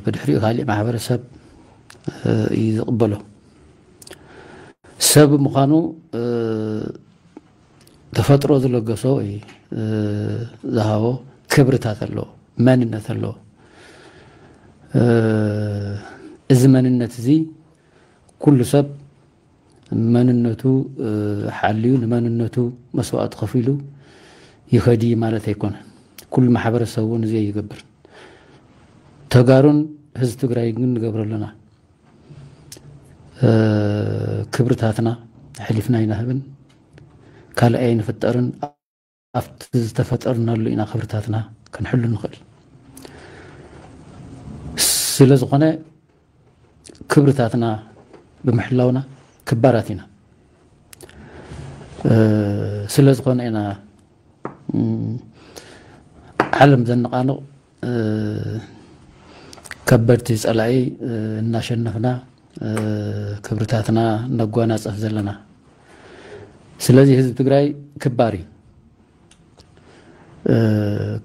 ብድሕሪኡ ካሊእ ማሕበረሰብ እዩ ዝቕበሎ። ሰብ ምዃኑ ተፈጥሮ ዝለገሶ ወይ ዝሃቦ ክብርታት ኣለዎ፣ መንነት ኣለዎ። እዚ መንነት እዚ ኩሉ ሰብ መንነቱ ሓልዩ ንመንነቱ መስዋእቲ ከፊሉ ይኸዲ ማለት ኣይኮነን። ኩሉ ማሕበረሰብ እውን እዚ ይገብር። ተጋሩን ህዝቢ ትግራይ ግን ንገብሮ ኣለና። ክብርታትና ኣሕሊፍና ኣይንህብን፣ ካልእ ኣይንፍጠርን። ኣብቲ ዝተፈጠርናሉ ኢና ክብርታትና ክንሕሉ ንኽእል። ስለ ዝኾነ ክብርታትና ብምሕላውና ክባራት ኢና። ስለ ዝኾነ ኢና ዓለም ዘነቓንቕ ከበድቲ ጸላኢ እናሸነፍና ክብርታትና ነጓናጸፍ ዘለና። ስለዚ ህዝቢ ትግራይ ክባር እዩ።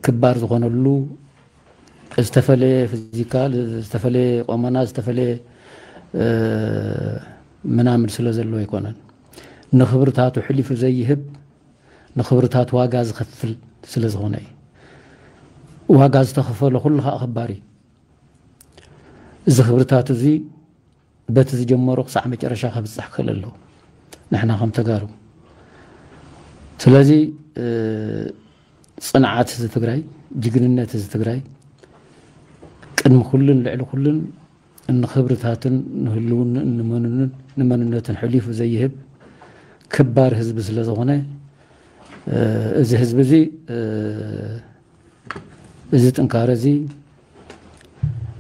ክባር ዝኾነሉ ዝተፈለየ ፊዚካል፣ ዝተፈለየ ቆመና፣ ዝተፈለየ ምናምን ስለ ዘለዎ ኣይኮነን። ንክብርታቱ ሕሊፉ ዘይህብ፣ ንክብርታቱ ዋጋ ዝኸፍል ስለ ዝኾነ እዩ። ዋጋ ዝተኸፈለ ኩሉ ከዓ ክባር እዩ። እዚ ክብርታቱ እዚ በቲ ዝጀመሮ ክሳዕ መጨረሻ ከብፅሕ ክኽእል ኣለዎ። ንሕና ከም ተጋሩ ስለዚ ፅንዓት እዚ ትግራይ፣ ጅግንነት እዚ ትግራይ ቅድሚ ኩሉን ልዕሊ ኩሉን ንክብርታትን ንህልውንኡን ንመንነትን ሕሊፉ ዘይህብ ክባር ህዝቢ ስለ ዝኾነ እዚ ህዝቢ እዚ እዚ ጥንካረ እዚ፣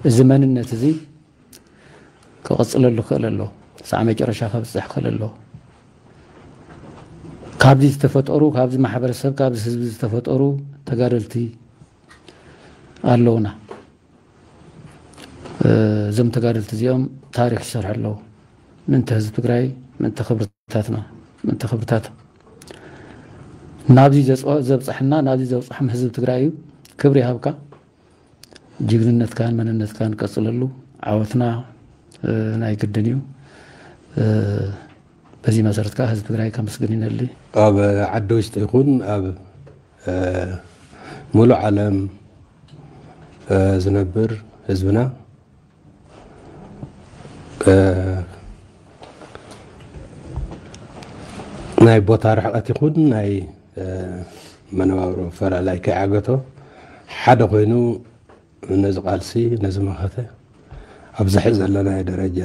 እዚ መንነት እዚ ክቕፅለሉ ክኽእል ኣሎ። ሳዕ መጨረሻ ከብፅሕ ክኽእል ኣሎ። ካብዚ ዝተፈጠሩ፣ ካብዚ ማሕበረሰብ፣ ካብዚ ህዝቢ ዝተፈጠሩ ተጋደልቲ ኣለውና። እዞም ተጋደልቲ እዚኦም ታሪክ ይሰርሑ ኣለዉ። ምእንቲ ህዝቢ ትግራይ፣ ምእንቲ ክብርታትና፣ ምእንቲ ክብርታት ናብዚ ዘብፅሐና፣ ናብዚ ዘብፅሖም ህዝቢ ትግራይ እዩ። ክብሪ ይሃብካ። ጅግንነትካን መንነትካን ቀፅለሉ። ዓወትና ናይ ግድን እዩ። በዚ መሰረት ከዓ ህዝቢ ትግራይ ከመስግን ይነሊ። ኣብ ዓዲ ውሽጢ ይኹን ኣብ ሙሉእ ዓለም ዝነብር ህዝብና ናይ ቦታ ርሕቀት ይኹን ናይ መነባብሮ ፈላላይ ከይዓገቶ ሓደ ኮይኑ ነዚ ቃልሲ ነዚ መኸተ ኣብዚ ሕዚ ዘለናዮ ደረጃ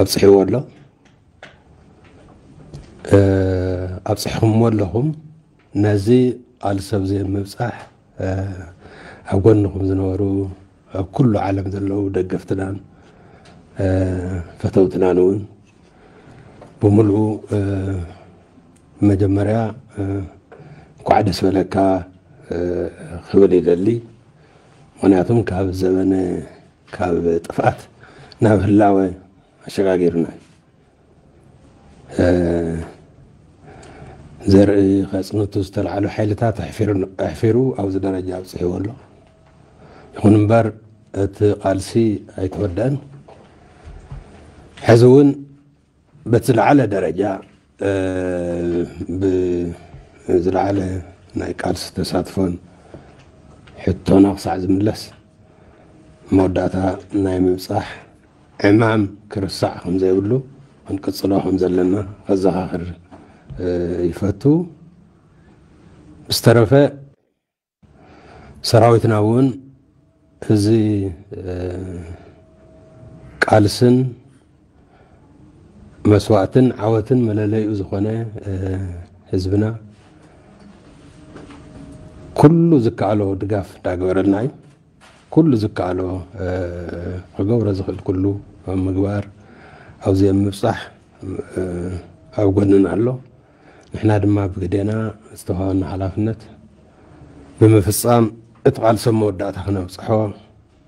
ኣብፅሕዎ ኣሎ። ኣብፅሕኹምዎ ኣለኹም። ነዚ ቃልሲ ኣብዚ ምብፃሕ ኣብ ጎንኹም ዝነበሩ ኣብ ኩሉ ዓለም ዘለዉ ደገፍትናን ፈተውትናን እውን ብምልኡ መጀመርያ እንኳዕ ደስ በለካ ክብል ይደሊ። ምክንያቱም ካብ ዘበነ ካብ ጥፍኣት ናብ ህላወ ኣሸጋጊርና ዘርኢ ከፅንቱ ዝተልዓሉ ሓይልታት ኣሕፊሩ ኣብዚ ደረጃ ኣብፅሕዎ ኣሎ። ይኹን እምበር እቲ ቃልሲ ኣይተወደአን። ሕዚ እውን በቲ ዝለዓለ ደረጃ ብዝለዓለ ናይ ቃልሲ ተሳትፎን ሕቶና ክሳዕ ዝምለስ መወዳእታ ናይ ምብፃሕ ዕማም ክርሳዕ ከም ዘይብሉ ክንቅፅሎ ከም ዘለና ከዘኻኽር ይፈቱ። ብዝተረፈ ሰራዊትና እውን እዚ ቃልስን መስዋእትን ዓወትን መለለይኡ ዝኾነ ህዝብና ኩሉ ዝከኣሎ ድጋፍ እንዳገበረልና እዩ። ኩሉ ዝከኣሎ ክገብሮ ዝኽእል ኩሉ ኣብ ምግባር፣ ኣብዚ ኣብ ምብፃሕ ኣብ ጎንና ኣሎ። ንሕና ድማ ብግዴና ዝተዋሃበና ሓላፍነት ብምፍፃም እቲ ቃልሲ ኣብ መወዳእታ ክነብፅሖ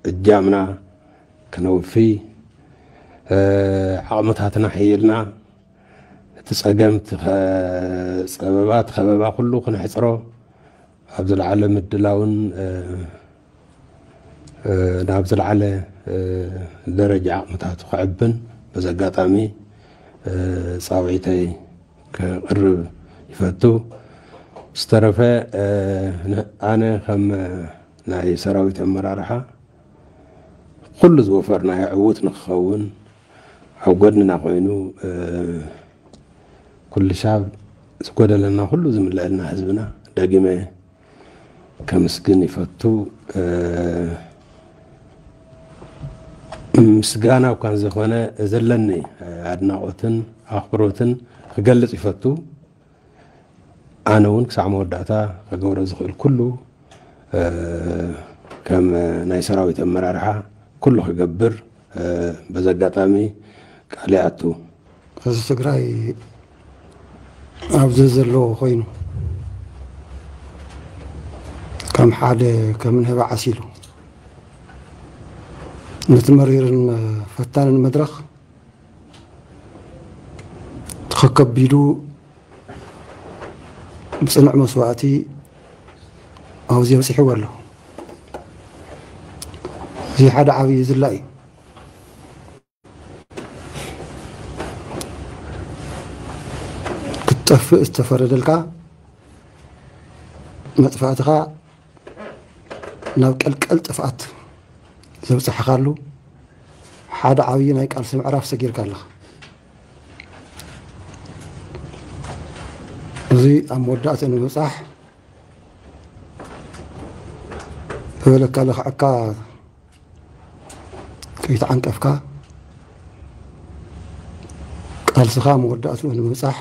እጃምና ክነውፊ፣ ዓቕምታትና ሕይልና እቲ ፀገም፣ እቲ ጸበባ፣ እቲ ከበባ ኩሉ ክነሕፅሮ ኣብ ዝለዓለ ምድላውን ናብ ዝለዓለ ደረጃ ዓቕምታቱ ክዕብን በዚ ኣጋጣሚ ፃውዒተይ ከቕርብ ይፈቱ። ዝተረፈ ኣነ ከም ናይ ሰራዊት ኣመራርሓ ኩሉ ዝወፈርናዮ ዕዉት ንክኸውን ኣብ ጎድንና ኮይኑ ኩሉ ሻብ ዝጎደለና ኩሉ ዝምልአልና ህዝብና ደጊመ ከምስግን ይፈቱ። ምስጋና እኳ እንዘኾነ ዘለኒ ኣድናቖትን ኣኽብሮትን ክገልጽ ይፈቱ። ኣነ እውን ክሳዕ መወዳእታ ክገብሮ ዝኽእል ኩሉ ከም ናይ ሰራዊት ኣመራርሓ ኩሉ ክገብር በዚ ኣጋጣሚ ቃል ይኣቱ። ህዝቢ ትግራይ ኣብዚ ዘሎ ኮይኑ ከም ሓደ ከም ንህቢ ዓሲሉ ነቲ መሪርን ፈታንን መድረኽ ተኸከቢዱ ብፅኑዕ መስዋእቲ ኣብዚ በፂሕዎ ኣሎ። እዚ ሓደ ዓብዪ ዝላ እዩ። ክትጠፍእ ዝተፈረደልካ መጥፋእትኻ ናብ ቀልቀል ጥፍኣት ዘብፅሐኻሉ ሓደ ዓብዪ ናይ ቃልሲ ምዕራፍ ሰጊርካ ኣለኻ። እዚ ኣብ መወዳእትኡ ንምብፃሕ ዝበለካ ለኽዐካ ከይተዓንቀፍካ ቃልስኻ መወዳእትኡ ንምብፃሕ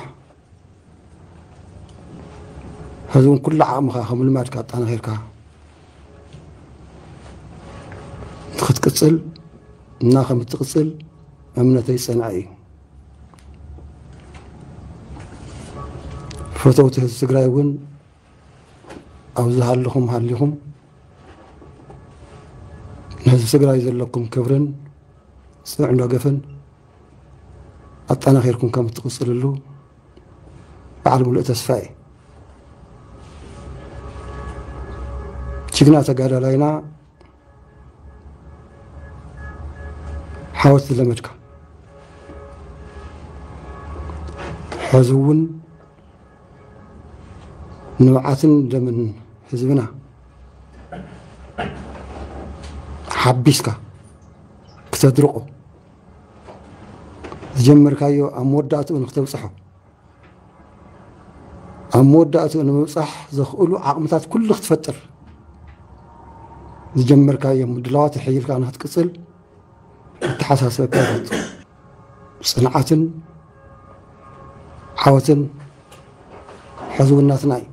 ሕዚ እውን ኩሉ ዓቕምኻ ከም ልማድካ ኣጣናኺርካ ንክትቅፅል እና ከም እትቅፅል እምነተይ ዝፀንዐ እዩ። ፈተውቲ ህዝቢ ትግራይ እውን ኣብ ዝሃለኹም ሃሊኹም ንህዝቢ ትግራይ ዘለኩም ክብርን ፅኑዕ ደገፍን ኣጠናኺርኩም ከም እትቕፅልሉ በዓል ሙሉእ ተስፋ እየ። ጅግና ተጋዳላይና ሓወት ዝለመድካ ሕዚ እውን ንብዓትን ደምን ህዝብና ሓቢስካ ክተድርቆ ዝጀመርካዮ ኣብ መወዳእትኡ ንክተብፅሖ ኣብ መወዳእትኡ ንምብፃሕ ዘኽእሉ ዓቕምታት ኩሉ ክትፈጥር ዝጀመርካዮ ምድላዋት ኣሕይልካ ንክትቅፅል ኣተሓሳስበካ ይፈቱ። ፅንዓትን ዓወትን ሕዝውናትና እዩ።